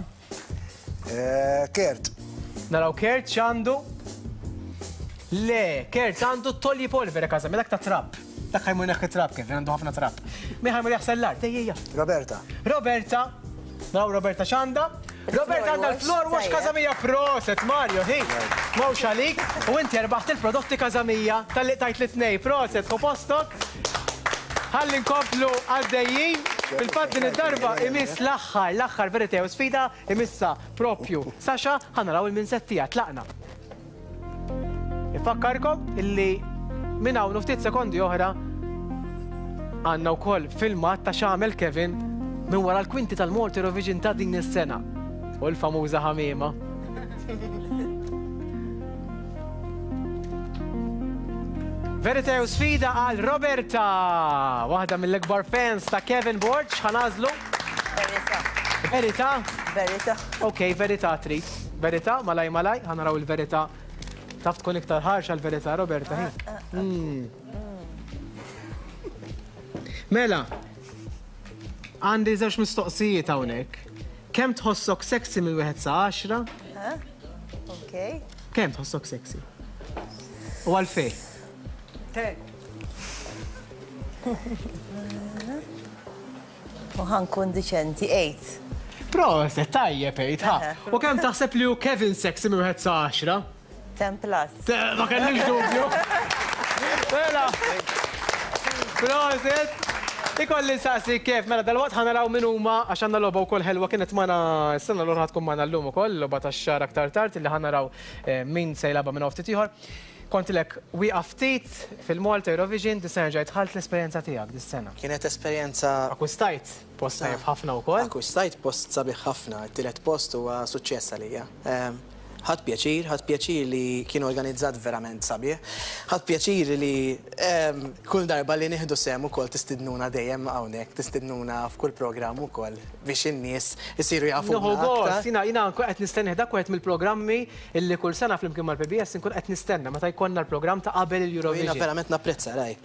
Kert. Naraw Kert x'għandu. Le, Kert għandu tolji polvere Każamija, dak ta' trab. Dak ħa jmur neħħi trab, Kevin għandu ħafna trab. Min ħa jmur jaħsel l-art? Ejja, ejja. Roberta. Roberta. Naraw Roberta x'għandha. Roberta għandha l-floor wash Każamija, proset, Mario, hi. Mawx għalik, u inti rbaħt il-prodotti Każamija tal-li tajt li tnej, proset, ħu postok. Ħalli nkomplu għaddejjin. Fil-fatt din id-darba imiss l-aħħar, l-aħħar verità u sfida imissa propju. Sasha, ħa naraw il-minsettija, tlaqna. Ifakkarkom illi minn hawn ftit sekondi oħra għandna wkoll filmat ta' x'għamel Kevin minn wara l-kwinti tal-Malta Eurovision ta' din is-sena. U l-famuża ħamiema. Verità u sfida għal Roberta, waħda mill-ikbar fans ta' Kevin Borg, ħa nagħżlu. Verità. Verità? Verità. Ok, verità trid. Verità, malaj malaj, ħa naraw il-verità. Taf tkun iktar ħarxa l-verità, Roberta. hi. Mela, għandi żewġ mistoqsijiet hawnhekk. Kemm tħossok sexy minn wieħed sa għaxra? Ok. Kemm tħossok sexy? U għalfejn? Ten. U ħa nkun diċenti, eight. Proset, tajjeb eight, ha. U kemm taħseb li hu Kevin sexy minn wieħed sa għaxra? Ten plus. Ma kellix dubju. Mela. Proset. Ikolli nsaqsi kif, mela dal-waqt ħa naraw min huma għax għandna logħba wkoll ħelwa kienet magħna s-sena l-oħra tkun magħna llum ukoll, logħba tax-xahar aktar tard illi ħa naraw min se jilgħabha minn hawn ftit ieħor. Kontilek wieqaf ftit fil-Malta Eurovision, dis-sena ġejt ħalt l-esperjenza tiegħek dis-sena. Kienet esperjenza Akkwistajt post tajjeb ħafna wkoll. Akkwistajt post sabiħ ħafna, it-tielet post huwa suċċess għalija. Ħadt pjaċir, ħadt pjaċir li kien organizzat verament sabiħ. Ħadt pjaċir li kull darba li nieħdu sehem ukoll tistidnuna dejjem hawnhekk, tistidnuna f'kull programm ukoll biex in-nies isiru jafu. Nieħu gost, jiena jiena nkun qed nistenni dak wieħed mill-programmi illi kull sena flimkien mal-P B S nkun qed nistenna meta jkollna l-programm ta' qabel il-Eurovision. Jiena verament napprezza raj.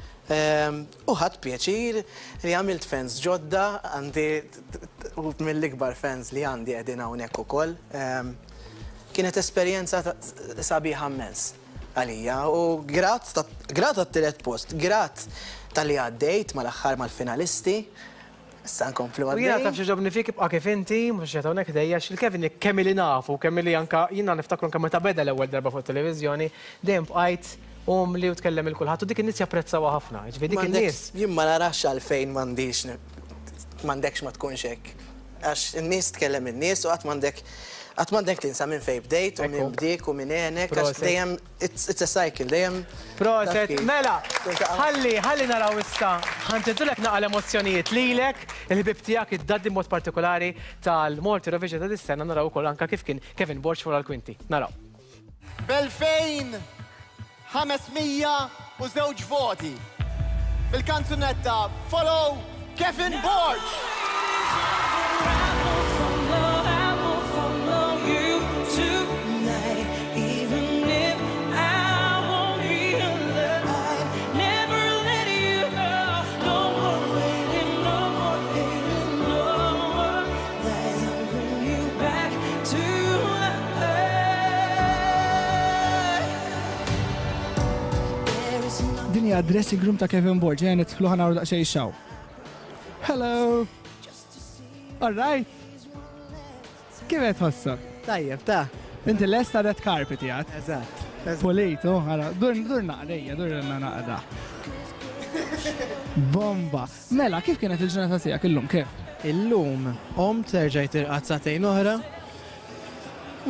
U ħadt pjaċir li għamilt fans ġodda, għandi mill-ikbar fans li għandi qegħdin hawnhekk ukoll. Kienet esperjenza sabiħa immens għalija u grat grat għat-tielet post, grat tal-li għaddejt mal-aħħar mal-finalisti. Issa nkomplu għaddej. U jiena taf x'għoġobni fik ibqa' kif inti, mhux qed hawnhekk ħdejja, għax il-Kevin kemm ili nafu, kemm ili anka jiena niftakru anke meta beda l-ewwel darba fuq it-televiżjoni, dejjem bqajt umli u tkellem il kulħadd u dik in-nies japprezzawha ħafna. Jiġifieri dik in-nies. Jien ma narax għalfejn m'għandix m'għandekx ma tkunx hekk. Għax in-nies tkellem in-nies u qatt m'għandek qatt m'għandek tinsa minn fejn bdejt u minn bdiek u minn għenek, għax dejjem it's a cycle, dejjem. Proset, mela, ħalli, ħalli naraw issa, ħanġedulek naqa l-emozzjonijiet lilek, il-ħbib tiegħek id-daddi mod partikolari tal-Malta Eurovision ta' dis-sena naraw ukoll anka kif kien Kevin Borg wara l-kwinti. Naraw. B'elfejn ħames mija u żewġ voti. Bil-kanzunetta Follow, Kevin Borg. I will follow you tonight, even if I won't be alive. Never let you go. No more waiting, no more hating, no more lies. I'll bring you back to life. There is nothing. Din hija dressing room ta' Kevin Borg, ejja nidħlu ħa naraw daqsxejn xaw. Hello. All right. Kif qed tħossok? Tajjeb, ta' Inti lesta red carpet jgħat. Eżatt. Pulit, oh, għara, dur dur naqrejja, dur naqra. Bomba. Mela, kif kienet il-ġurnata tiegħek illum, kif? Illum, qomt erġajt irqadt sagħtejn oħra.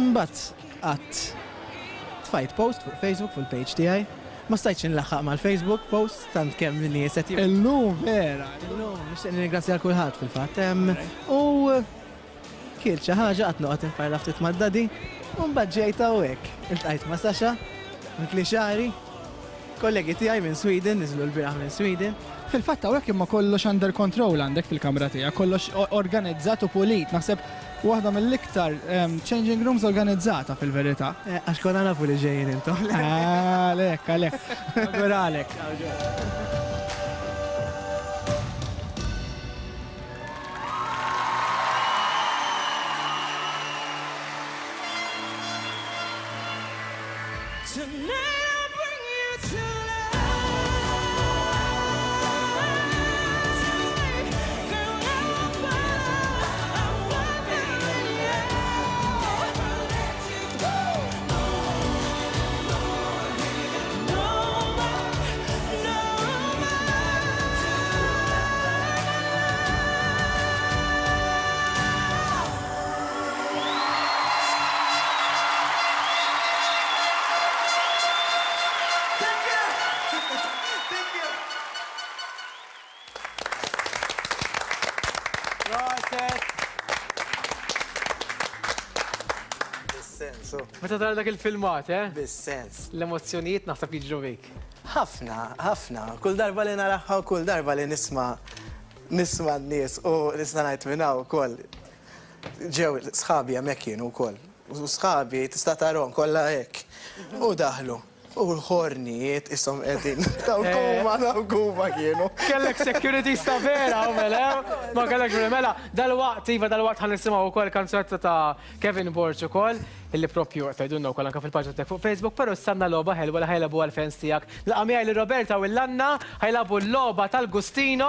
Mbagħad qatt tfajt post fuq Facebook fuq il-page tiegħi. Ma stajtx nlaħħaq mal-Facebook post tant kemm nies qed Illum vera. Illum nixtieq nirringrazzja lil kulħadd fil-fatt. Em, U kilt xi ħaġa qatt noqgħod inparla ftit mad-daddy u mbagħad ġejt hawnhekk. Iltqajt ma' Sasha, mitli xagħri, kollegi tiegħi minn Sweden, niżlu l-bieraħ minn Sweden. Fil-fatt hawnhekk imma kollox under control għandek fil-kamra tiegħek, kollox o- organizzat u pulit. Naħseb waħda mill-iktar em, changing rooms organizzata fil-verità. Eh, Għax konna nafu li ġejjin intom. Għalek, għalek. Għalek. Tonight I'll bring you to life. Girl, I will follow, I'm following you. Never let you go. No more, no more, no Thank you. Proset. Bis-sens, oh. Meta tara dak il-filmat, eh? Bis-sens. L-emozzjonijiet naħseb jiġru bik. Ħafna, ħafna. Kull darba li naraha u kull darba li nisma' nisma' n-nies u nista' ngħid minn hawn ukoll. Ġew sħabi hemmhekk kienu wkoll. U sħabi tista' tarahom kollha hekk. U daħlu. U l-ħornijiet ishom qegħdin. Dawk huma, dawk huma kienu. Kellek security sta vera, u mela, ma kellek mela, dal-waqt, iva, dal-waqt ħa nisimgħu ukoll kanzunetta ta' Kevin Borg ukoll, illi propju tgħidulna wkoll anka fil-paġna tiegħek fuq Facebook, però stanna logħba ħelwa li ħa jilagħbu għal-fans tiegħek. Laqa miegħi li Roberta u l-Anna ħa jilagħbu l-logħba tal-Gustino.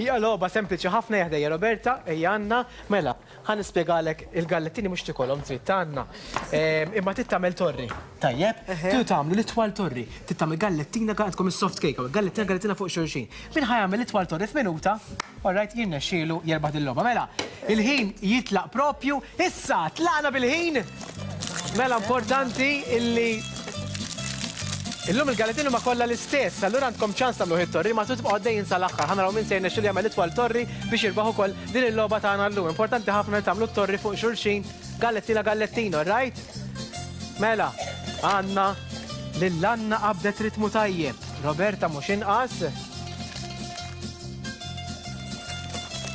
Hija logħba sempliċi ħafna jaħdejja Roberta, ejja Anna, mela, ħa nispjegalek il-gallettini mhux tikolhom trid ta' Anna. Ehm, Imma trid tagħmel torri. Tajjeb? Tridu tagħmlu l-itwal torri. Trid tagħmel gallettina għandkom is-soft cake, gallettina gallettina fuq xulxin. Min ħa jagħmel l-itwal torri f'minuta, alright, jirnexxielu jerbaħ din-logħba. Mela, il-ħin jitlaq propju issa, tlaqna bil-ħin. Mela importanti illi illum il-gallettini ma kollha l-istess, allura għandkom ċans tagħmlu it-torri, ma tibqgħu għaddejjin sal-aħħar. Ħa naraw min se jirnexxielu jagħmel itwal torri biex jirbaħ ukoll din il-logħba tagħna llum. Importanti ħafna li tagħmlu t-torri fuq xulxin, gallettina gallettino, right? Mela, għandna lil Anna qabdet ritmu tajjeb. Roberta mhux inqas.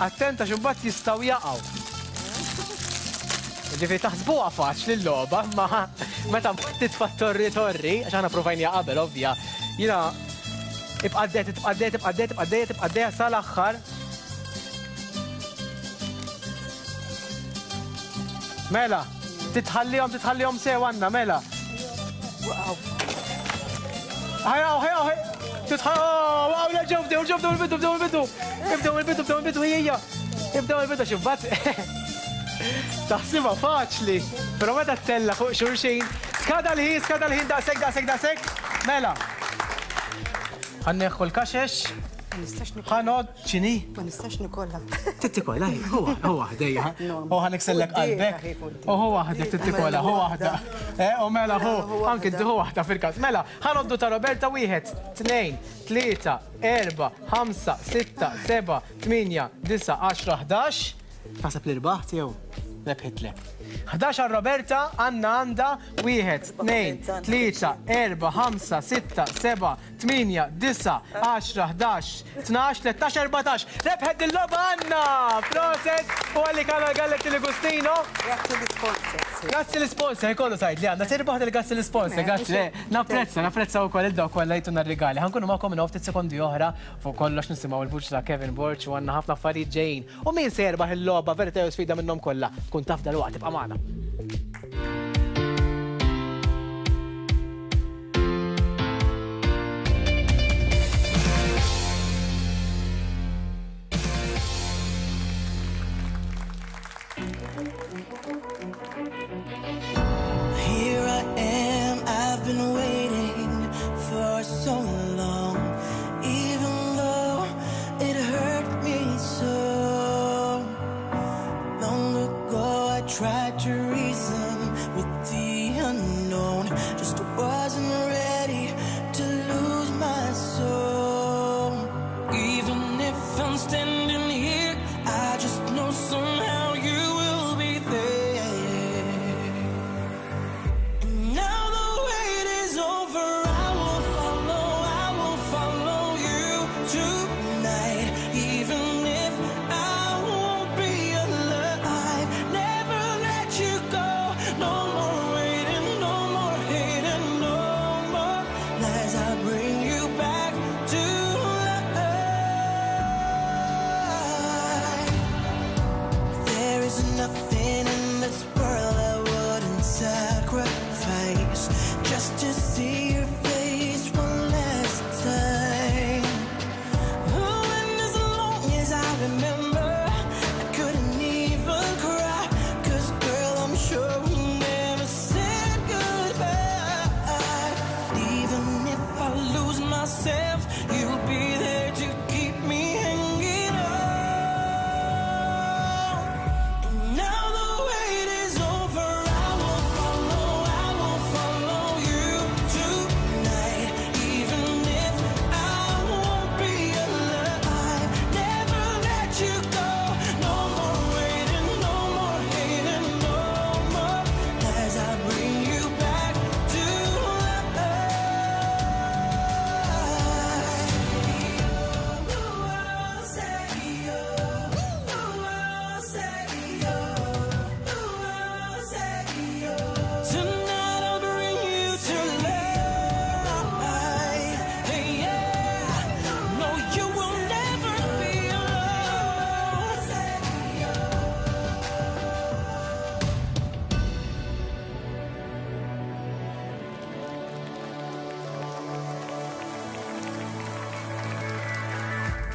Attenta x'imbagħad jistgħu jaqgħu. Ġifieri taħsbuha faċli l-logħba, ma meta mbagħad titfa' torri torri, għax aħna provajna qabel ovvja. Jiena ibqa' għaddej, tibqa' għaddej, tibqa' għaddej, tibqa' għaddej, tibqa' għaddej sal-aħħar. Mela, titħallihom, titħallihom sew għandna, mela. Ħajaw, ħajaw, titħallihom, wow, la ġew, bdew, ġew, bdew il-bidu, bdew il-bidu. Bdew il-bidu, bdew il-bidu, hija. Ibdew il-bidu xi mbagħad taħsibha faċli, però meta ttella' fuq xulxin, skada l-ħin, skada l-ħin, daqshekk, daqshekk, daqshekk. Mela. Ħa nneħħu l-kaxex. Ħa ngħodd x'inhi? Ma nistax nikollha. Tittikola, hu hu waħdejja. U ħa niksellek qalbek. U hu waħdek tittikola, hu waħda. Eh, u mela hu, anki hu waħda fil-każ. Mela, ħa ngħoddu ta' Roberta wieħed, tnejn, tlieta, erba', ħamsa, sitta, seba', tmienja, disa', għaxra, ħdax. Naħseb li rbaħt jew rebħitlek. ħdax għal Roberta, Anna għandha wieħed, tnejn, tlieta, erba', ħamsa, sitta, seba', tmienja, disa', għaxra, ħdax, tnax, tlettax, erbatax. Rebħet il-logħba Anna! Proset! U għalli Kanal Galletti li Gustino. Grazzi l-sponsor. Grazzi l-sponsor, kollu tajt li għandna tirbaħ il-grazzi l-sponsor, grazzi. Napprezza, napprezza wkoll il-dawk kollha jtuna r-rigali. Ħa nkunu magħkom minn ftit sekondi oħra fuq kollox nisimgħu il-vuċi ta' Kevin Borg u għandna ħafna affarijiet ġejjin. U min se jerbaħ il-logħba verità jew sfida minnhom kollha? Tkun taf dalwaqt, tibqa' magħna. Here I am, I've been waiting for so long, even though it hurt me so. Long ago I tried to reason with the unknown, just wasn't ready to lose my soul. Even if I'm standing here, I just know somehow you will be there. And now the wait is over. I will follow, I will follow you tonight. Even if I won't be alive, never let you go. No more waiting, no more hating, no more lies. I bring you back to life. There is nothing in this world I wouldn't sacrifice just to see your face one last time. Oh, and as long as I remember, I couldn't even cry. 'Cause girl, I'm sure we never said goodbye. Even if I lose myself, you'll be there to keep me hanging on. And now the wait is over. I will follow, I will follow you tonight. Even if I won't be alive, never let you go. No more waiting, no more hating, no more lies. I bring you back to life. Tonight I'll bring you to life. Hey, yeah. No, you will never be alone.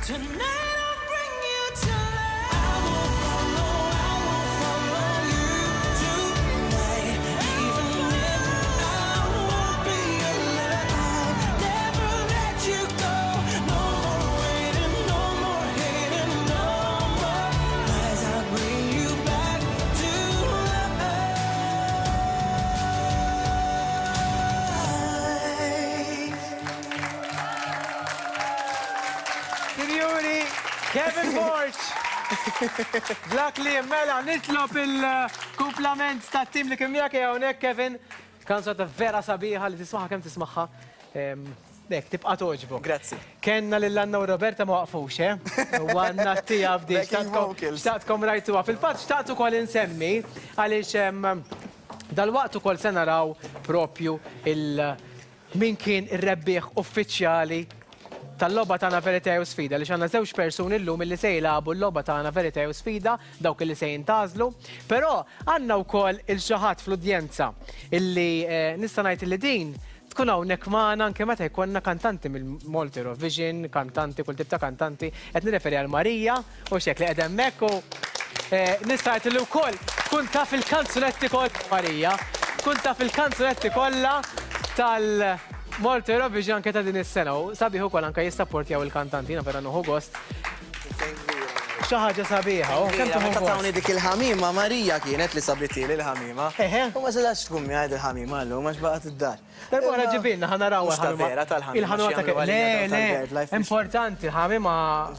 Tonight I'll bring you to life. I will follow, I will follow you tonight. Even if I won't be alive, never let you go. No more waiting, no more hating, no more lies. I bring you back to life. Sinjuri, Kevin Borg! Black li mela nitlob il-kumplament ta' tim li kien miegħek hawnhekk Kevin. Kanzunetta vera sabiħa li tismaħħa kemm tismaħħa. Dek, tibqa' toġbok. Grazzi. Kenna lil Anna u Roberta ma waqfux, eh? U għanna tija bdi. Backing vocals. Xtaqtkom rajtuha. Fil-fatt xtaqt ukoll insemmi għaliex em, dalwaqt ukoll se naraw propju il min kien ir-rebbieħ uffiċjali tal-logħba tagħna Verità jew Sfida li għandna żewġ persuni llum illi se jilagħbu l-logħba tagħna Verità jew Sfida, dawk illi se jintgħażlu. Però għandna wkoll il xi ħadd fl-udjenza illi eh, nista' ngħid illi din tkun hawnhekk magħna anke meta jkollna kantanti mill-Malta Eurovision, kantanti, kull tip ta' kantanti, qed nirreferi għal Marija u xek li qed hemmhekk u nista' ngħid li wkoll tkun taf il-kanzunetti kollha Marija, tkun taf il-kanzunetti kollha tal-Malta Eurovision anke ta' din is-sena u sabiħ ukoll anke jissapportjaw il-kantanti, jiena vera nieħu gost. Xi ħaġa sabiħa, u kemm tieħu Meta gost. tawni dik il-ħamima, Marija kienet li sabitili il-ħamima. U ma setax tkun miegħi il-ħamima llum għax baqgħet id-dar. Darba oħra ġibilna ħa naraw Mhux ta' il-ħamima. vera tal-ħamima. Il-ħamima xi ta' jagħmlu Le, għalina le, tal-BirdLife. importanti, il-ħamima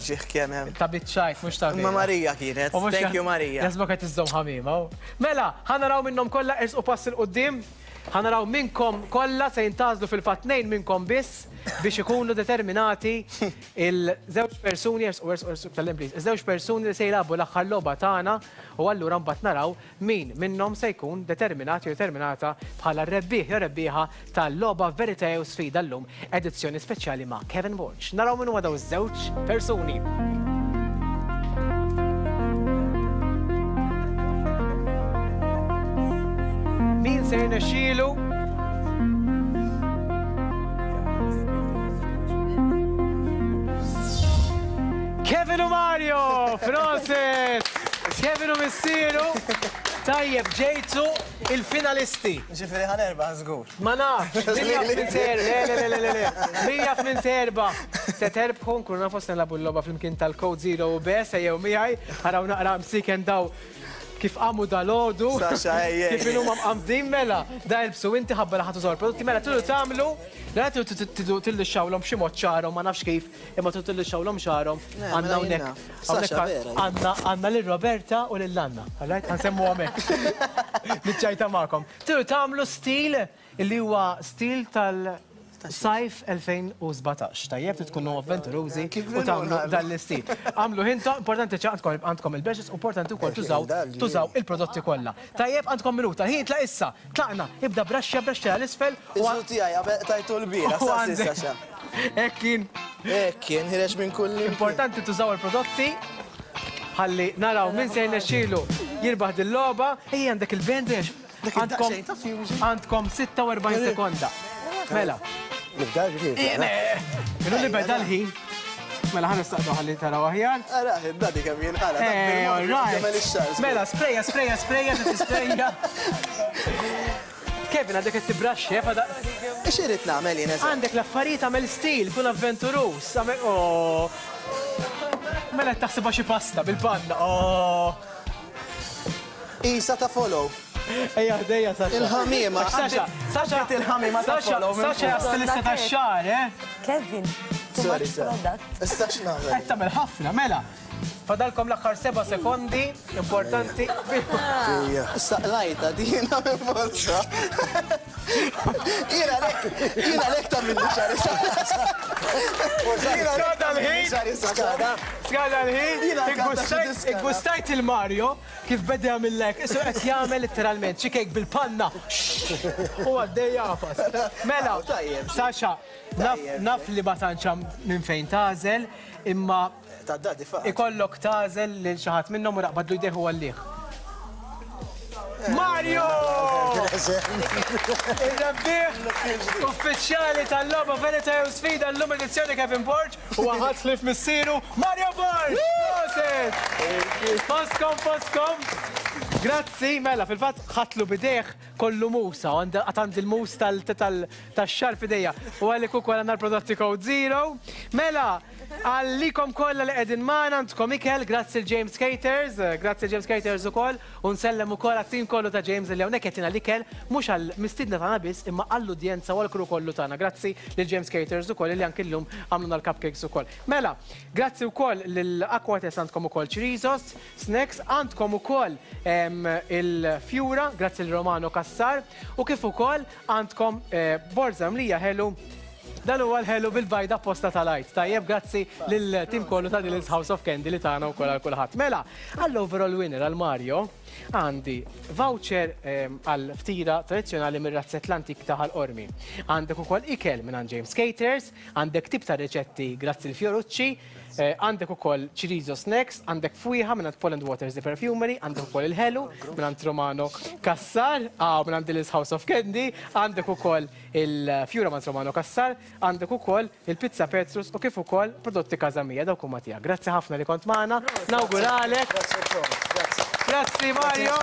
Ġieħ kemm hemm. ta' biċċajt, mhux ta' Imma vera. Marija kienet. U mhux Thank you Marija. Jasbok qed iżżomm ħamima. u. Mela, ħa naraw minnhom kollha ersqu pass 'il quddiem. Ħa naraw minnkom kollha se jintgħażlu fil-fatt tnejn minnkom biss biex ikunu determinati il-żewġ persuni, ersqu ersqu ersqu tal please, iż-żewġ persuni li se jilagħbu l-aħħar logħba tagħna u allura mbagħad naraw min minnhom se jkun determinat jew determinata bħala r-rebbieħ jew rebbieħa tal-logħba Verità jew Sfida llum, edizzjoni speċjali ma' Kevin Borg. Naraw min huma daw iż-żewġ persuni. Min se jirnexxielu? Kevin u Mario, Francis! Kevin u missieru. Tajjeb, ġejtu il-finalisti. Ġifieri ħa nerbaħ żgur. Ma nafx, min jaf min ser, le, le, le, le, le, le. Min jaf min serba. Se terbħu, nkunu nafu se nilagħbu l-logħba flimkien tal-Code Zero u B, se jew miegħi, ħaraw naqra msiken daw kif qamu dal-għodu. Sasha, ej, ej. Kif inhuma mqamdin mela. Da ilbsu inti ħabba li ħadd użaw il-prodotti mela tridu tagħmlu, la tridu tillixxawlhom b'xi mod xagħarhom, ma nafx kif, imma tridu tillixxawlhom xagħarhom. Le, Għandna mela hawnhekk. jien naf. Hawnhekk Sasha, vera, jien. għandna għandna lil Roberta u lil Anna. All right, ħansemmu hemmhekk. Niċċajta magħkom. Tridu tagħmlu stil illi huwa stil tal Sajf elfejn u sbatax. Tajjeb, trid tkunu avventurużi u tagħmlu dan l-istil. Għamlu ħinta, importanti ċa għandkom, għandkom il-brushes, importanti wkoll tużaw, tużaw il-prodotti kollha. Tajjeb, għandkom minuta. Ħin tlaq issa, tlaqna, ibda braxxa, braxxa l-isfel u Iżu tiegħi qabel tajtu l-bira, u sa għandek. Sasha. Hekk kien. Hekk kien, ħireġ minn kull Importanti tużaw il-prodotti. Ħalli naraw min se jirnexxielu jirbaħ din-logħba. Ejja, għandek il-bandage. Dak Għandkom id-daqsxejn ta' fusion. għandkom sitta u erbgħin sekonda. Mela. Nibda ġifieri. Minu li beda l-ħin. Mela ħa nistaqdu ħalli taraw aħjar. Ara, id-dadi kemm jinqala, dak Eh, bil-mod all right. jagħmel ix-xagħar, żgur. Mela, sprejja, sprejja, sprejja, tisprejja. Kevin, għandek qed tibraxxi, eh, fada. Ix irid nagħmel jien eżatt? Għandek l-affarijiet għamel stil, kun avventuruż, għamel, oh. Mela qed taħsibha xi pasta bil-panna, oh. Isa ta' follow. Ejja, ħdejja, Sasha. Il-ħamiema. Sasha, Sasha, Għaddit il-ħamiema ta' Sasha, follow minn Sasha, fuq. stilista tax-xagħar, eh? Kevin, too Sorry, much sorry. product. Issa x'nagħmel? Qed tagħmel ħafna, mela. Fadalkom l-aħħar seba' sekondi, importanti. Issa qlajta dina minn bolsa. Jiena lek, jiena lek ta' minni xagħri. Skada l-ħin. Skada. Skada l-ħin. Jiena kanta xi Iggustajt- diskana. Iggustajt il-Mario kif beda jagħmillek. Isu qed jagħmel letteralment xi kejk bil-panna. U għaddej jafas. Mela, Tajjeb. Sasha, naf, Tajjeb. naf li ma tantx hemm minn fejn tażel, imma Ta' dadi faqat. ikollok tażel lil xi ħadd minnhom u raqbadlu jdejh u għallih. Mario! Il-rebbieħ uffiċjali tal-logħba Verità jew Sfida llum edizzjoni Kevin Borg u ħadd ħlief missieru Mario Borg! Proset! Foskom, foskom! Grazzi, mela, fil-fatt ħatlu bidejh kollu musa, u għand- għad għandi il-mus tal-, tal-, tax-xar fidejja. U għalik ukoll għandna l-prodotti Code Zero. Mela, għallikom kollha li qegħdin magħna għandkom ikel, grazzi l-James Caters, eh, grazzi l-James Caters ukoll, u nsellem ukoll għat-tim kollu ta' James li hawnhekk qed l-ikel mhux għall-mistiedna tagħna biss imma għall-udjenza u għall-crew kollu tagħna. Grazzi lil James Caters ukoll li anke llum għamluna l-cupcakes ukoll. Mela, grazzi wkoll lil Aquates għandkom ukoll Chorizo's, snacks, għandkom ukoll, em, il-Fjura, grazzi l Romano Cassar, u kif ukoll għandkom, eh, borza mlija ħelu. Dan huwa l-ħelu bil-bajda posta tal-għajt. Tajjeb, grazzi lil-tim kollu ta' Dylan's House of Candy li tagħna wkoll għal kulħadd. Mela, għall-overall winner għal Mario għandi voucher, ehm, għal ftira tradizzjonali mir-razzett l-antik ta' Ħal Qormi. Għandek ukoll ikel minn għand James Caters, għandek tip ta' riċetti grazzi l-Fiorucci, Għandek ukoll Chorizo Snacks, għandek fwieħa minn Poland Waters The Perfumery, għandek ukoll il-ħelu minn Romano Cassar, minn Dillis House of Candy, għandek ukoll il-fjura minn Romano Cassar, għandek ukoll il-Pizza Petrus u kif ukoll prodotti Casa Mia, dawk huma tiegħek. Grazzi ħafna li kont magħna, nawguralek. Grazzi Mario.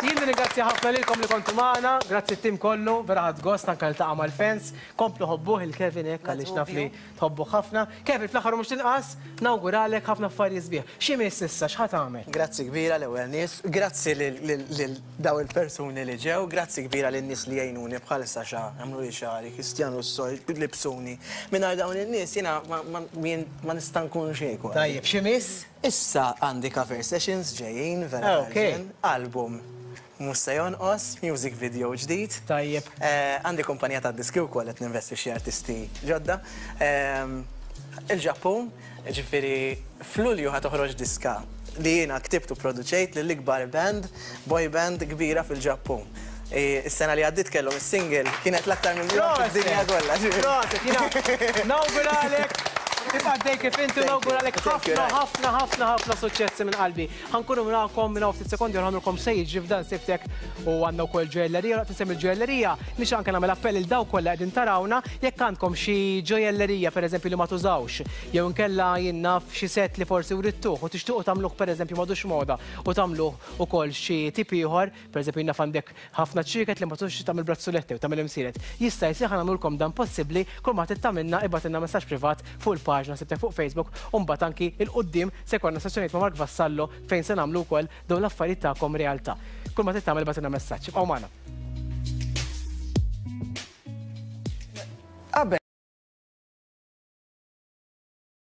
Jien ringrazzja ħafna lilkom li kontu magħna, grazzi t-tim kollu, vera ħadt gost anke niltaqa' mal-fans. Komplu ħobbuh il-Kevin hekk għaliex naf li tħobbu ħafna. Kevin, fl-aħħar u mhux tinqas, nawguralek ħafna affarijiet sbieħ. X'imiss issa, x'ħa tagħmel? Grazzi kbira l-ewwel nies, grazzi lil daw il-persuni li ġew, grazzi kbira lin-nies li jgħinuni bħal Saxa, għamlu li xagħri, Kristjanu s-soj, libsuni. Mingħajr dawn in-nies jiena ma nista' nkun xejn. Tajjeb, x'imiss? Issa għandi cover sessions ġejjin, vera album mhux se jonqos, music video ġdid. Tajjeb. Għandi kumpanija ta' diski wkoll qed ninvesti f'xi artisti ġodda. Il-Ġappun, ġifieri f'Lulju ħa toħroġ diska li jiena ktibt u produċejt lill-ikbar band, boy band kbira fil-Ġappun. Is-sena li għaddit kellhom is-single kienet l-aktar minn fid-dinja kollha. Proset, jiena nawguralek. Tibqa' dej kif inti, nawguralek ħafna ħafna ħafna ħafna suċċessi minn qalbi. Ħa nkunu magħkom minn ftit sekondi u nagħmlulkom se jiġri f'dan Sibtek u għandna wkoll ġojellerija, waqt insemmi l-ġojellerija nix anke nagħmel appell il dawk kollha qegħdin tarawna jekk għandkom xi ġojellerija pereżempju li ma tużawx, jew inkella jien naf xi set li forsi writtuh u tixtiequ tagħmluh pereżempju m'għadux moda u tagħmluh ukoll xi tip ieħor, pereżempju jien naf għandek ħafna ċrieket li ma tużx tagħmel brazzuletti u tagħmel imsieret. Jista' jsir ħa nagħmlulkom dan possibbli kull ma trid tagħmilna ibgħatilna messaġġ privat fuq il-paġna Sibtek fuq Facebook u mbagħad anki 'l quddiem se jkollna sessjonijiet ma' Mark Vassallo fejn se nagħmlu wkoll dawn l-affarijiet tagħkom realtà. Kull ma trid tagħmel ibgħatilna messaġġ. Ibqgħu magħna.